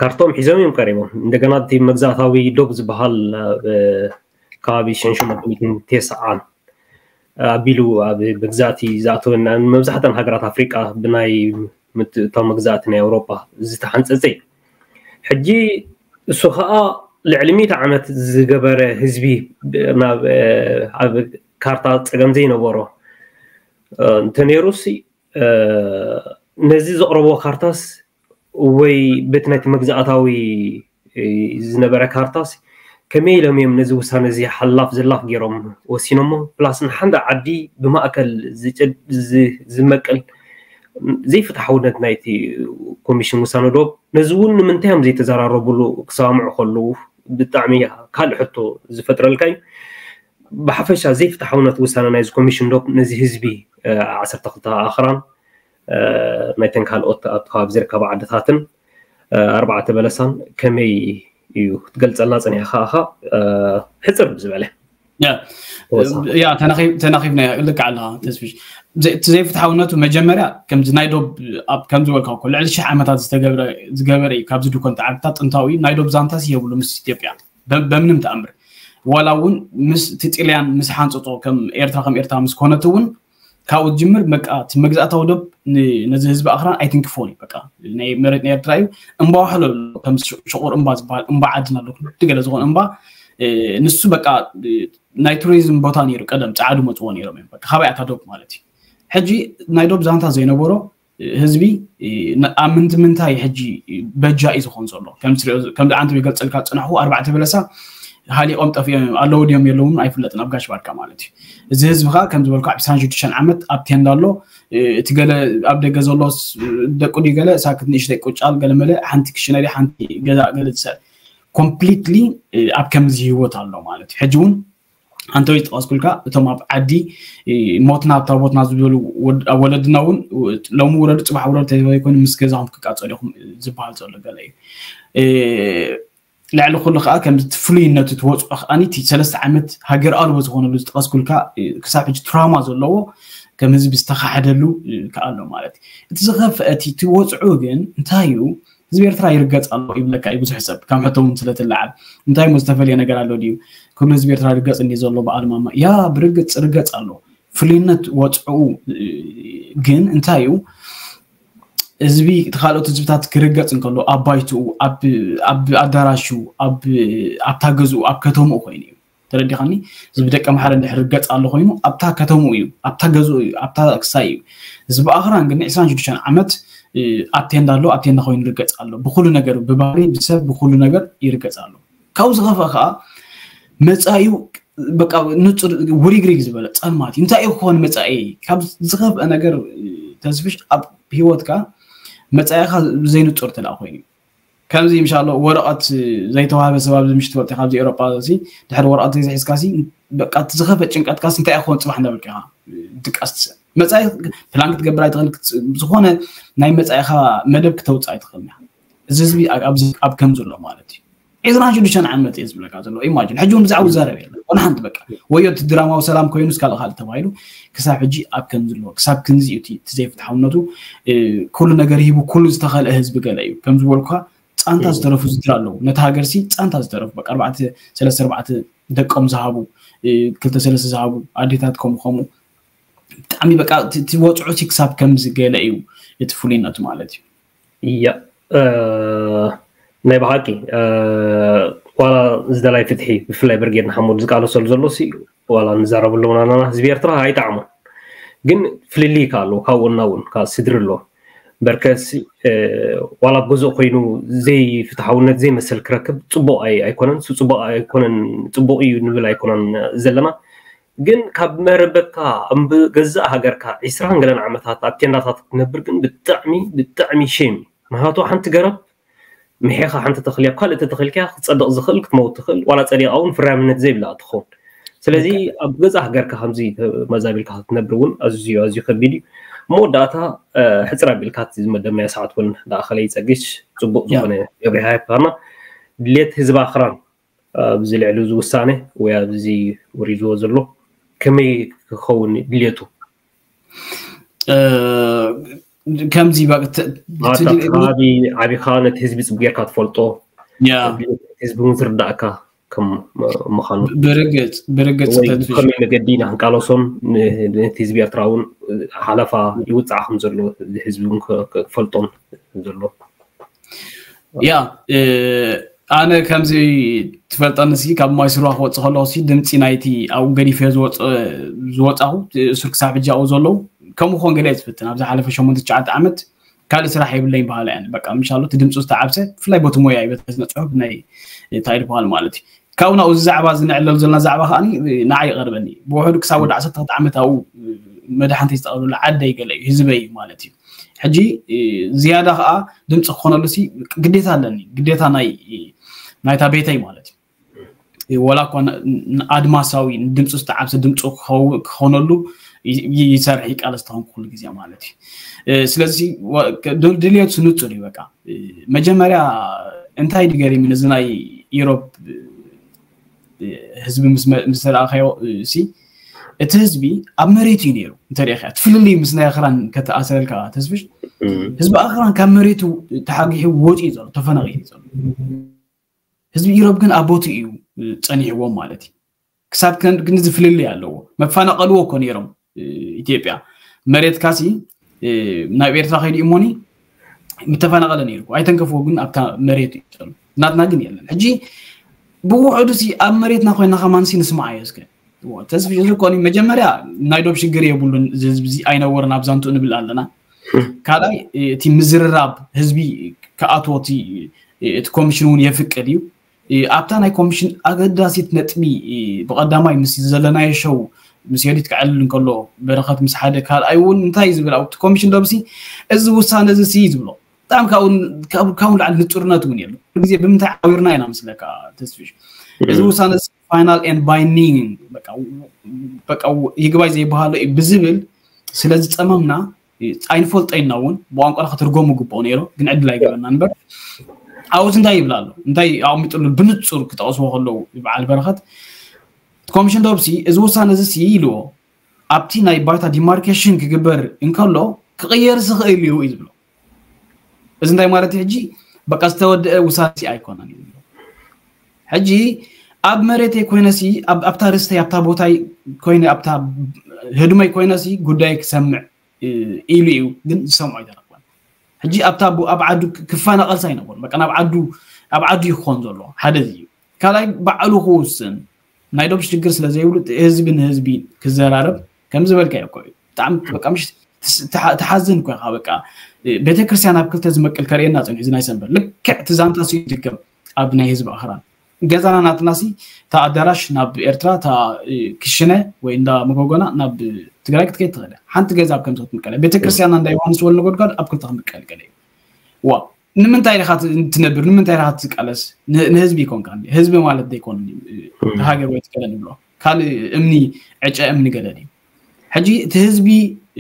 ካርቶም ሒዞም እዮም ቀሪቦም እንደገና እቲ መግዛእታዊ ዶብ ዝበሃል ከባቢ ሸንሸመት ሚትን ቴስዓን ኣቢሉ ኣብ መግዛእቲ ዝኣተወና መብዛሕተን ሃገራት ኣፍሪቃ ብናይ ምትእታው መግዛእቲ ናይ ኣውሮጳ ዝተሓንፀፀ እዩ ሕጂ እሱ ከዓ ልዕሊ ሚእቲ ዓመት ዝገበረ ህዝቢ ኣብ ካርታ ፀገም ዘይነበሮ እንተነይሩሲ ነዚ ዘቕረቦ ካርታስ ወይ በቲ ናይቲ መግዛእታዊ ዝነበረ ካርታስ ከመይ ኢሎም እዮም ነዚ ውሳነ እዚ ሓላፍ ዘላፍ ገይሮም ወሲኖሞ? ፕላስ ንሓንዳ ዓዲ ብማእከል ዝመቅል ዘይፍትሓውነት ናይቲ ኮሚሽን ውሳነ ዶብ ነዚ እውን ንምንታይ እዮም ዘይተዘራረቡሉ ክሰማምዑ ከለዉ ብጣዕሚ ካልእ ሕቶ ዝፈጥረልካ እዩ። ብሓፈሻ ዘይፍትሓውነት ውሳነ ናይዚ ኮሚሽን ዶብ ነዚ ህዝቢ ዓሰርተ ክልተ ኣኽራን ናይተን ካልኦት ኣብቲ ከባቢ ዝርከባ ዓድታትን ኣርባዕተ በለሳን ከመይ እዩ ክትገልፀልና ፀኒሕካ ኢኻ? ሕፅር ብዝበለ ያ ተናኺብናዮ ልክዕ ኣለኻ ተስፍሽ። እቲ ዘይፍትሓውነቱ መጀመርያ ከምዚ ናይ ዶብ ከምዚ በልካ እኮ ልዕሊ ሽሕ ዓመታት ዝገበረ እዩ። ካብዚ ድኮን ተዓብታ ጥንታዊ ናይ ዶብ ዛንታስ የብሉ ምስ ኢትዮጵያ በምንም ተኣምር ዋላ እውን ምስ እቲ ጥልያን ምስ ሓንፅፆ ከም ኤርትራ ከም ኤርትራ ምስ ኮነት እውን ካብኡ ዝጅምር በቃ እቲ መግዛእታዊ ዶብ ነዚ ህዝቢ ኣኽራን ኣይትንክፎን እዩ። በቃ ናይ መሬት ናይ ኤርትራ እዩ። እምባ ዋሕሎ ኣሎ ከም ሽቑር እምባ ዝበሃል እምባ ዓድና ኣሎ ክልተ ገለ ዝኾነ እምባ ንሱ በቃ ናይ ቱሪዝም ቦታ ነይሩ ቀደም ፃዓዱ መፅዎ ነይሮም እዮም። በቃ ካባይ ኣታ ዶብ ማለት እዩ። ሕጂ ናይ ዶብ ዛንታ ዘይነበሮ ህዝቢ ኣብ ምንታይ ምንታይ ሕጂ በጃ እዩ ዝኾን ዘሎ ከም ዓንተ ይገልፀልካ ዝፅናሕኩ ኣርባዕተ በለሳ ሃሊቆም ጠፊኦም ኣለዉ ድዮም የለውን ኣይፍለጥን ኣብ ጋሽ ባርካ ማለት እዩ። እዚ ህዝቢ ከዓ ከም ዝበልኩ ኣብ ዕስራን ሽዱሽተን ዓመት ኣብ ቴንዳ ኣሎ። እቲ ገለ ኣብ ደገ ዘሎ ደቁ ድዩ ገለ ሳክት ንእሽተይ ቁጫል ገለ መለ ሓንቲ ክሽነሪ ሓንቲ ገዛ ገለ ዝሰ ኮምፕሊትሊ ኣብ ከምዚ ህይወት ኣሎ ማለት እዩ። ሕጂ እውን ኣንተ ዝጠቀስኩልካ እቶም ኣብ ዓዲ ሞትና ኣብ ታቦትና ዝበሉ ወለድና እውን ሎሚ ውረዱ ፅባሕ ውረዱ ተዘይኮይኑ ምስ ገዛኹም ክቃፀሉ ኢኹም ዝበሃል ዘሎ ገለ እዩ። ልዕሊ ኩሉ ከዓ ከምዚ ፍሉይነቱ ትወፅዖ ከዓኒ እቲ ሰለስተ ዓመት ሃገር ኣልቦ ዝኾነሉ ዝጠቀስኩልካ ክሳብ ሕጂ ትራውማ ዘለዎ ከም ህዝቢ ዝተካሕደሉ ከዓ ኣሎ ማለት እዩ። እቲ ዝኸፍአ እቲ ወፅዑ ግን እንታይ እዩ? ህዝቢ ኤርትራ ይርገፅ ኣሎ ይብለካ እዩ ብዙሕ ሰብ ከም ሕቶ እውን ስለትለዓል እንታይ ሞ ዝተፈለየ ነገር ኣሎ ድዩ? ኩሉ ህዝቢ ኤርትራ ይርገፅ እንዲ ዘሎ በዓል ማማ ያ ብርግፅ ርገፅ ኣሎ። ፍሉይነት ወፅዑ ግን እንታይ እዩ? ህዝቢ እቲ ካልኦት ህዝብታት ክርገፅ እንከሎ ኣብ ባይትኡ ኣብ ኣዳራሹ ኣብታ ገዝኡ ኣብ ከተምኡ ኮይኑ እዩ። ተረዲኻኒ? እዚ ብደቂ ኣምሓራ እንድሕር ርገፅ ኣሎ ኮይኑ ኣብታ ከተምኡ እዩ ኣብታ ገዝኡ እዩ ኣብታ ክሳይ እዩ። እዚ ብኣኽራን ግን ዕስራን ሽዱሽተን ዓመት ኣብ ቴንዳ ኣሎ ኣብ ቴንዳ ኮይኑ ይርገፅ ኣሎ። ብኩሉ ነገር ብባህሪ ብሰብ ብኩሉ ነገር ይርገፅ ኣሎ። ካብኡ ዝኸፍአ ከዓ መፃኢኡ በቃ ንፁር ውሪግሪግ ዝበለ ፀልማት እዩ። እንታይ እዩ ክኾን መፃኢ? ካብ ዝኸፍአ ነገር ተስፍሽ ኣብ ህይወትካ መፃኢኻ ዘይንፁር ተላ ኮይኑ ከምዚ ምሻሎ ወረቐት ዘይተዋህበ ሰብ ኣብዚ ምሽ ትፈልጢ ካብዚ ኤሮጳ እዚ ድሕሪ ወረቐት ዘይዝሒዝካ ሲ በቃ እቲ ዝኸፈ ጭንቀትካ ሲ እንታይ ክኾን ፅባሕ እንዳበልካ ኢኻ ድቃስ ትስእ መፃኢ ፕላን ክትገብር ኣይትኽእል ዝኾነ ናይ መፃኢኻ መደብ ክተውፅእ ኣይትኽእል እዚ ህዝቢ ኣብ ከምዚ ኣሎ ማለት እዩ። ዕስራን ሽዱሽተን ዓመት እየ ዝብለካ ዘሎ ኢማጂን ሕጂ እውን ብዛዕባ ዝዛረብ የለ ኮነ ሓንቲ በቃ ወዮ እቲ ድራማዊ ሰላም ኮይኑ እስካልእ ካልእ ተባሂሉ ክሳብ ሕጂ ኣብ ከምዚ ኣሎ ክሳብ ክንዚ እዩ እቲ ዘይፍትሓውነቱ ኩሉ ነገር ሂቡ ኩሉ ዝተኸልአ ህዝቢ ገለ እዩ ከም ዝበልኩካ ፃንታ ዝተረፉ ዝድር ኣለዉ ነቲ ሃገር ሲ ፃንታ ዝተረፉ በቃ ኣርባዕተ ሰለስተ ኣርባዕተ ደቆም ዝሃቡ ክልተ ሰለስተ ዝሃቡ ኣዴታት ከምኡ ከምኡ ብጣዕሚ በቃ እቲ ወፅዑ ሲ ክሳብ ከምዚ ገለ እዩ እቲ ፍሉይነቱ ማለት እዩ። እያ ናይ ብሓቂ ዋላ ዝደላይ ፍትሒ ብፍላይ ብርጌድ ንሓመዱ ዝቃለሰሉ ዘሎ ሲ ዋላ ንዛረበሉ ናና ህዝቢ ኤርትራ ኣይጠዓሞን ግን ፍልልይ ከ ኣለዎ ካብኡ እና እውን ካብ ስድሪ ኣለዎ በርከስ ዋላ ኣብ ገዝኡ ኮይኑ ዘይፍትሓውነት ዘይመሰል ክረክብ ፅቡቅ ኣይኮነን ፅቡቅ ኣይኮነን ፅቡቅ እዩ ንብል ኣይኮነን ዘለና ግን ካብ መረበትካ እምብ ገዛእ ሃገርካ ዒስራን ገለን ዓመታት ኣብ ቴንዳታት ክትነብር ግን ብጣዕሚ ብጣዕሚ ሼም እዩ። ምክንያቱ ሓንቲ ገረብ ምሒኻ ሓንቲ ተኽሊ ኣብ ካልእ ተተኺልካ ክፀድቕ ዝኽእል ክትመውት ትኽእል ዋላ ፀዲቓ እውን ፍርያምነት ዘይብላ ትኸውን። ስለዚ ኣብ ገዛእ ሃገርካ ከምዚ ተመዛቢልካ ክትነብር እውን ኣዝዩ ኣዝዩ ከቢድ እዩ። መወዳእታ ሕፅር ኣቢልካ እቲ ዝመደብናዮ ሰዓት እውን ዳእኸለ ይፀግሽ ፅቡቅ ዝኾነ መብሪሃ ይብካና ድሌት ህዝቢ ኣኽራን ኣብዚ ልዕሊ እዚ ውሳነ ወይ ኣብዚ ወሪድዎ ዘሎ ከመይ ክኸውን ድልየቱ? ከምዚ ከባቢ ዓቢኻ ነቲ ህዝቢ ፅቡቅ ጌርካ ትፈልጦ ህዝቢ እውን ዝርዳእካ ከም ምዃኑ ብርግፅ ብርግፅ ከመይ መገዲ ኢና ክንቃለሶን ነቲ ህዝቢ ኤርትራ እውን ሓለፋ ይውፃዕ ከም ዘሎ ህዝቢ እውን ክፈልጦን ዘሎ ያ ኣነ ከምዚ ትፈልጠኒ ሲ ካብ ማይ ስርዋ ክወፅእ ከለኩ ሲ ድምፂ ናይቲ ኣብኡ ገዲፈ ዝወፃኹ እሱር ክሳብ ሕጂ ኣብኡ ዘለዉ ከምኡ ክኾን ገለ እየ ዝፍትን። ኣብ ዝሓለፈ ሸሞንተ ትሽዓተ ዓመት ካልእ ስራሕ የብለይን በሃላ እየን። በቃ ምሻሎ እቲ ድምፁ ዝተዓብሰ፣ ብፍላይ ቦቲ ሞያ እዩ፣ በቲ ስነ ፅሑፍ ናይ እንታይ ዝበሃል ማለት እዩ። ካብኡ ናብኡ እዚ ዛዕባ እዚ ንዕለሉ ዘለና ዛዕባ ከዓ ንዓይ ይቐርበኒ። ብውሕዱ ክሳብ ወዲ ዓሰርተ ክልተ ዓመት ኣብኡ መድሓንተይ ዝተቐብለሉ ዓደይ ገለ እዩ፣ ህዝበይ እዩ ማለት እዩ። ሕጂ ዝያዳ ከዓ ድምፂ ክኾነሉ ሲ ግዴታ ኣለኒ፣ ግዴታ ናይ ናይታ ቤተይ ማለት እዩ። ወላ እኳ ኣድማሳዊ ድምፁ ዝተዓብሰ ድምፁ ክኾነሉ ይሰርሕ ይቃለስ ተኾንኩ ኩሉ ግዜ ማለት እዩ። ስለዚ ድልየቱ ንፁር እዩ። በቃ መጀመርያ እንታይ ድገሪም እዚ ናይ ኢሮብ ህዝቢ ምስ ረኣኸዮ ሲ እቲ ህዝቢ ኣብ መሬቱ እዩ ነይሩ። እንተሪእካ እቲ ፍልልይ ምስ ናይ ኣኽራን ከተኣሰረልካ ተስፍሽ ህዝቢ ኣኽራን ካብ መሬቱ ተሓጊሑ ወፂኡ ዘሎ ተፈናቒሉ ዘሎ። ህዝቢ ኢሮብ ግን ኣብ ቦትኡ እዩ ጸኒሕዎም ማለት እዩ። ክሳብ ክንዲ ዝፍልልይ ኣለዎ። መፈናቐልዎ እኮ ነይሮም ኢትዮጵያ መሬት ካሲ ናብ ኤርትራ ከይዱ እሞኒ ምተፈናቐለ ነይሩ። ኣይተንከፍዎ ግን ኣብታ መሬት እዩ ዘሎ። ናትና ግን የለን። ሕጂ ብውሕዱ ሲ ኣብ መሬትና ኮይና ከማን ሲ ንስማዓዮ እስከ። ተስፍሽ እዚ ኮኒ መጀመርያ ናይ ዶብ ሽግር የብሉን። እዚ ህዝቢ እዚ ኣይነወርን ኣብ ዛንቱ ንብል ኣለና። ካልኣይ እቲ ምዝርራብ ህዝቢ ክኣትዎ እቲ ኮሚሽን እውን የፍቅድ እዩ። ኣብታ ናይ ኮሚሽን ኣገዳሲት ነጥቢ ብቐዳማይ ምስ ዘለናዮ ሸው ምስ ዮዲት ክዕልል እንከሎ በረኸት ምስ ሓደ ካልኣይ እውን እንታይ ዝብል ኣብቲ ኮሚሽን ዶብሲ እዚ ውሳነ እዚ ሲ ዝብሎ ብጣዕሚ ካብኡ ንላዕሊ ንፁርነት እውን የሎ። ግዜ ብምንታይ ዓዊርና ኢና ምስለካ ተስፍሽ እዚ ውሳነ ፋይናል ኤንድ ባይንዲንግ ይግባይ ዘይበሃሎ እዩ ብዝብል ስለ ዝፀመምና ኣይንፈልጦ ኢና እውን ብቋንቋና ክትርጎም ግብኦ ነይሩ ግን ዕድል ኣይገበና እምበር ኣብኡስ እንታይ ይብል ኣሎ እንታይ ኣቕሚጥሉ ብንፁር ክጠቕስዎ ከለዉ በዓል በረኸት ኮሚሽን ዶብሲ እዚ ውሳነ እዚ ሲ ኢልዎ ኣብቲ ናይ ባይታ ዲማርኬሽን ክግበር እንከሎ ክቕየር ዝኽእል እዩ እዩ ዝብሎ እዚ እንታይ ማለት እዩ ሕጂ በቃ ዝተወደአ ውሳነ ሲ ኣይኮነን እዩ ዝብሎ ሕጂ ኣብ መሬተይ ኮይነ ሲ ኣብታ ርስተይ ኣብታ ቦታይ ኮይነ ኣብታ ህድመይ ኮይነ ሲ ጉዳይ ክሰምዕ ኢሉ እዩ ግን ዝሰምዖ ኣይተረክበን ሕጂ ኣብታ ኣብ ዓዱ ክፈናቐልሳ ኣይነበሩ በቃ ናብ ዓዱ ኣብ ዓዱ ይኾን ዘሎ ሓደ እዩ ካልኣይ ባዕሉ ክውስን ናይ ዶብ ሽግር ስለ ዘይብሉ ህዝቢ ንህዝቢ ክዘራረብ ከም ዝበልካ ይኮ እዩ ብጣዕሚ በቃ ምሽ ትሓዝን እኮ ኢኻ በቃ ቤተክርስትያን ኣብ ክልተ ዝመቅል ከርእየና ፅንሑ እዚ ናይ ሰንበት ልክዕ እቲ ዛንታ ሲ ይድገም ኣብ ናይ ህዝቢ ኣኽራን ገዛና ናትና ሲ እታ ኣዳራሽ ናብ ኤርትራ እታ ክሽነ ወይ እንዳ መጎጎና ናብ ትግራይ ክትከይድ ትኽእል ሓንቲ ገዛ ኣብ ከምዚ ክትምቀለ ቤተክርስትያንና እንዳ ዮሃንስ ወልነጎድጓድ ኣብ ክልተ ክምቀል ገለ እዩ ዋ ንምንታይ ኢኻ ትነብር ንምንታይ ኢኻ ትቃለስ ንህዝቢ ይኮንካ ህዝቢ ማለት ዘይኮን ሃገር ወይ ትገለ ንብሎ ካልእ እምኒ ዕጨ እምኒ ገለ ድዩ ሕጂ እቲ ህዝቢ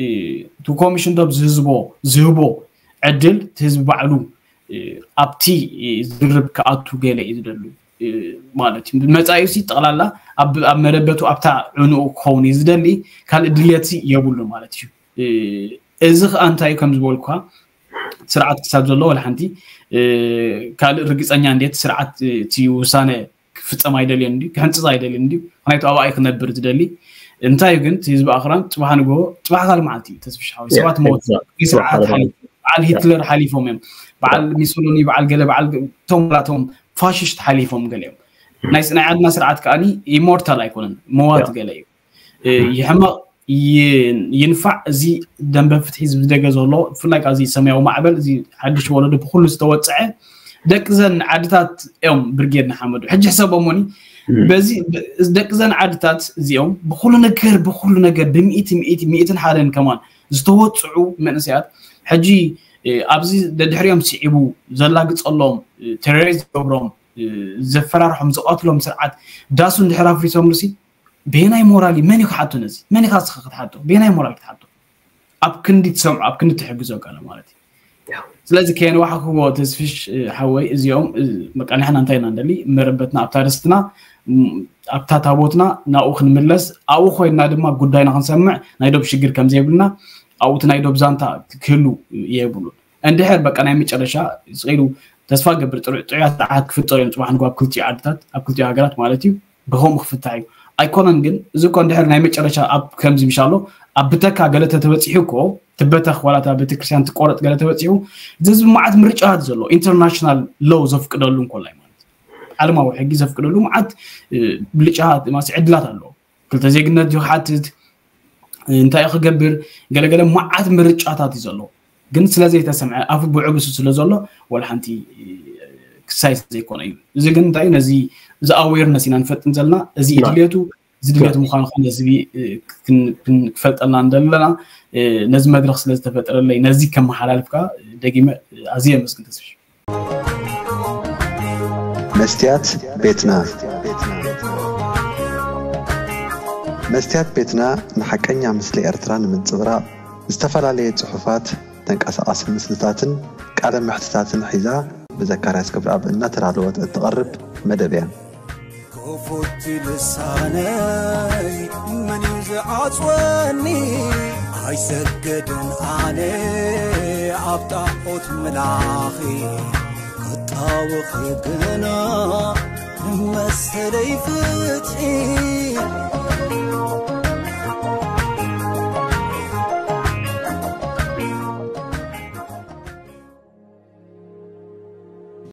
እቲ ኮሚሽን ዶብ ዝህዝቦ ዝህቦ ዕድል እቲ ህዝቢ ባዕሉ ኣብቲ ዝርብ ክኣቱ ገለ እዩ ዝደሉ ማለት እዩ መፃዩ ሲ ጠቕላላ ኣብ መረበቱ ኣብታ ዕንኡ ክኸውን እዩ ዝደሊ ካልእ ድልየት የብሉ ማለት እዩ እዚ ከዓ እንታይ ከም ዝበልኩካ ስርዓት ክሳብ ዘሎ ወላ ሓንቲ ካልእ ርግፀኛ እንዴት ስርዓት እቲ ውሳነ ክፍፀም ኣይደልየን እንዲ ክሕንፅፅ ኣይደልየን እንዲ ምክንያቱ ኣብኣ ክነብር ዝደሊ እንታይ ግን ህዝቢ ኣኽራን ፅባሕ ንግሆ ፅባሕ ካልእ መዓልቲ እዩ ተስፍሽ ሓወይ ሰባት ሞት ስርዓት በዓል ሂትለር ሓሊፎም እዮም በዓል ሚሶሎኒ በዓል ገለ በዓል ቶም ላቶም ፋሽስት ሓሊፎም ገለ እዮም ናይ ናይ ዓድና ስርዓት ከዓኒ ኢሞርታል ኣይኮነን መዋት ገለ እዩ ይሕመቕ ይንፋዕ እዚ ደንበ ፍትሒ ዝብደገ ዘሎ ብፍላይ ካብ እዚ ሰማያዊ ማዕበል እዚ ሓድሽ ወለዶ ብኩሉ ዝተወፀዐ ደቂ ዘን ዓድታት እዮም ብርጌድ ንሓመዱ ሕጂ ሕሰቦሞኒ በዚ ደቂ ዘን ዓድታት እዚኦም ብኩሉ ነገር ብኩሉ ነገር ብሚእቲ ሚእቲ ሚእትን ሓደን ከማን ዝተወፅዑ መንእሰያት ሕጂ ኣብዚ ደድሕሪኦም ስዒቡ ዘላግፀሎም ቴሮሪስት ዝገብሮም ዘፈራርሖም ዝቐትሎም ስርዓት ዳሱ እንድሕር ኣፍሪሶም ርሲ በየናይ ሞራል መን እዩ ክሓቶ ነዚ መን ኢኻ ስኻ ክትሓቶ በየናይ ሞራል ክትሓቶ ኣብ ክንዲ ትሰምዖ ኣብ ክንዲ ትሕግዞ ጋለ ማለት እዩ ስለዚ ከየንዋሓክዎ ተስፍሽ ሓወይ እዚኦም በቃ ንሕና እንታይ ኢና ንደሊ መረበትና ኣብታ ርስትና ኣብታ ታቦትና ናብኡ ክንምለስ ኣብኡ ኮይንና ድማ ጉዳይና ክንሰምዕ ናይ ዶብ ሽግር ከም ዘይብልና ኣብኡ እቲ ናይ ዶብ ዛንታ ክህሉ የብሉን እንድሕር በቃ ናይ መጨረሻ ስኢሉ ተስፋ ገብር ጥዑያት ስርዓት ክፍጠሩ እዮም ፅባሕ ንግሆ ኣብ ክልቲኡ ዓድታት ኣብ ክልቲኡ ሃገራት ማለት እዩ ብከምኡ ክፍታሕ እዩ ኣይኮነን ግን እዚ እኮ እንድሕር ናይ መጨረሻ ኣብ ከምዚ ምሻሎ ኣብ ብተካ ገለ ተተበፂሑ እኮ ትበተኽ ዋላ እታ ቤተክርስትያን ትቆረጥ ገለ ተበፂሑ እዚ ህዝቢ መዓት ምርጫታት ዘሎ ኢንተርናሽናል ሎው ዘፍቅደሉ እንኮላይ ማለት ዓለማዊ ሕጊ ዘፍቅደሉ መዓት ብልጫ ዕድላት ኣለዎ ክልተ ዜግነት ድዩ ክሓትት እንታይ ክገብር ገለገለ መዓት ምርጫታት እዩ ዘሎ። ግን ስለ ዘይተሰምዐ ኣፉ ብዕብሱ ስለ ዘሎ ወላ ሓንቲ ክሳይ ዘይኮነ እዩ። እዚ ግን እንታይ ነዚ እዚ ኣዌርነስ ኢና ንፈጥን ዘለና። እዚ ድልየቱ እዚ ድልየቱ ምዃኑ ከ ነዚ ክፈልጠልና እንደለና ነዚ መድረክ ስለ ዝተፈጠረለይ ነዚ ከመሓላልፍካ ደጊመ ኣዝየ የመስግን ተስፍሽ። መስትያት ቤትና መስትያት ቤትና ንሓቀኛ ምስሊ ኤርትራ ንምንጽብራቕ ዝተፈላለየ ጽሑፋት፣ ተንቀሳቓሲ ምስልታትን ቃለ መሕትታትን ሒዛ ብዘካርያስ ገብረኣብ እናተዳለወት እትቐርብ መደብ እያ። ክፉት ልሳነይ መን እዩ ዝዓጽወኒ? ኣይሰገድን ኣነ ኣብ ጣዖት ምላኺ ክጣወኺ ግና ንመሰለይ ፍትሒ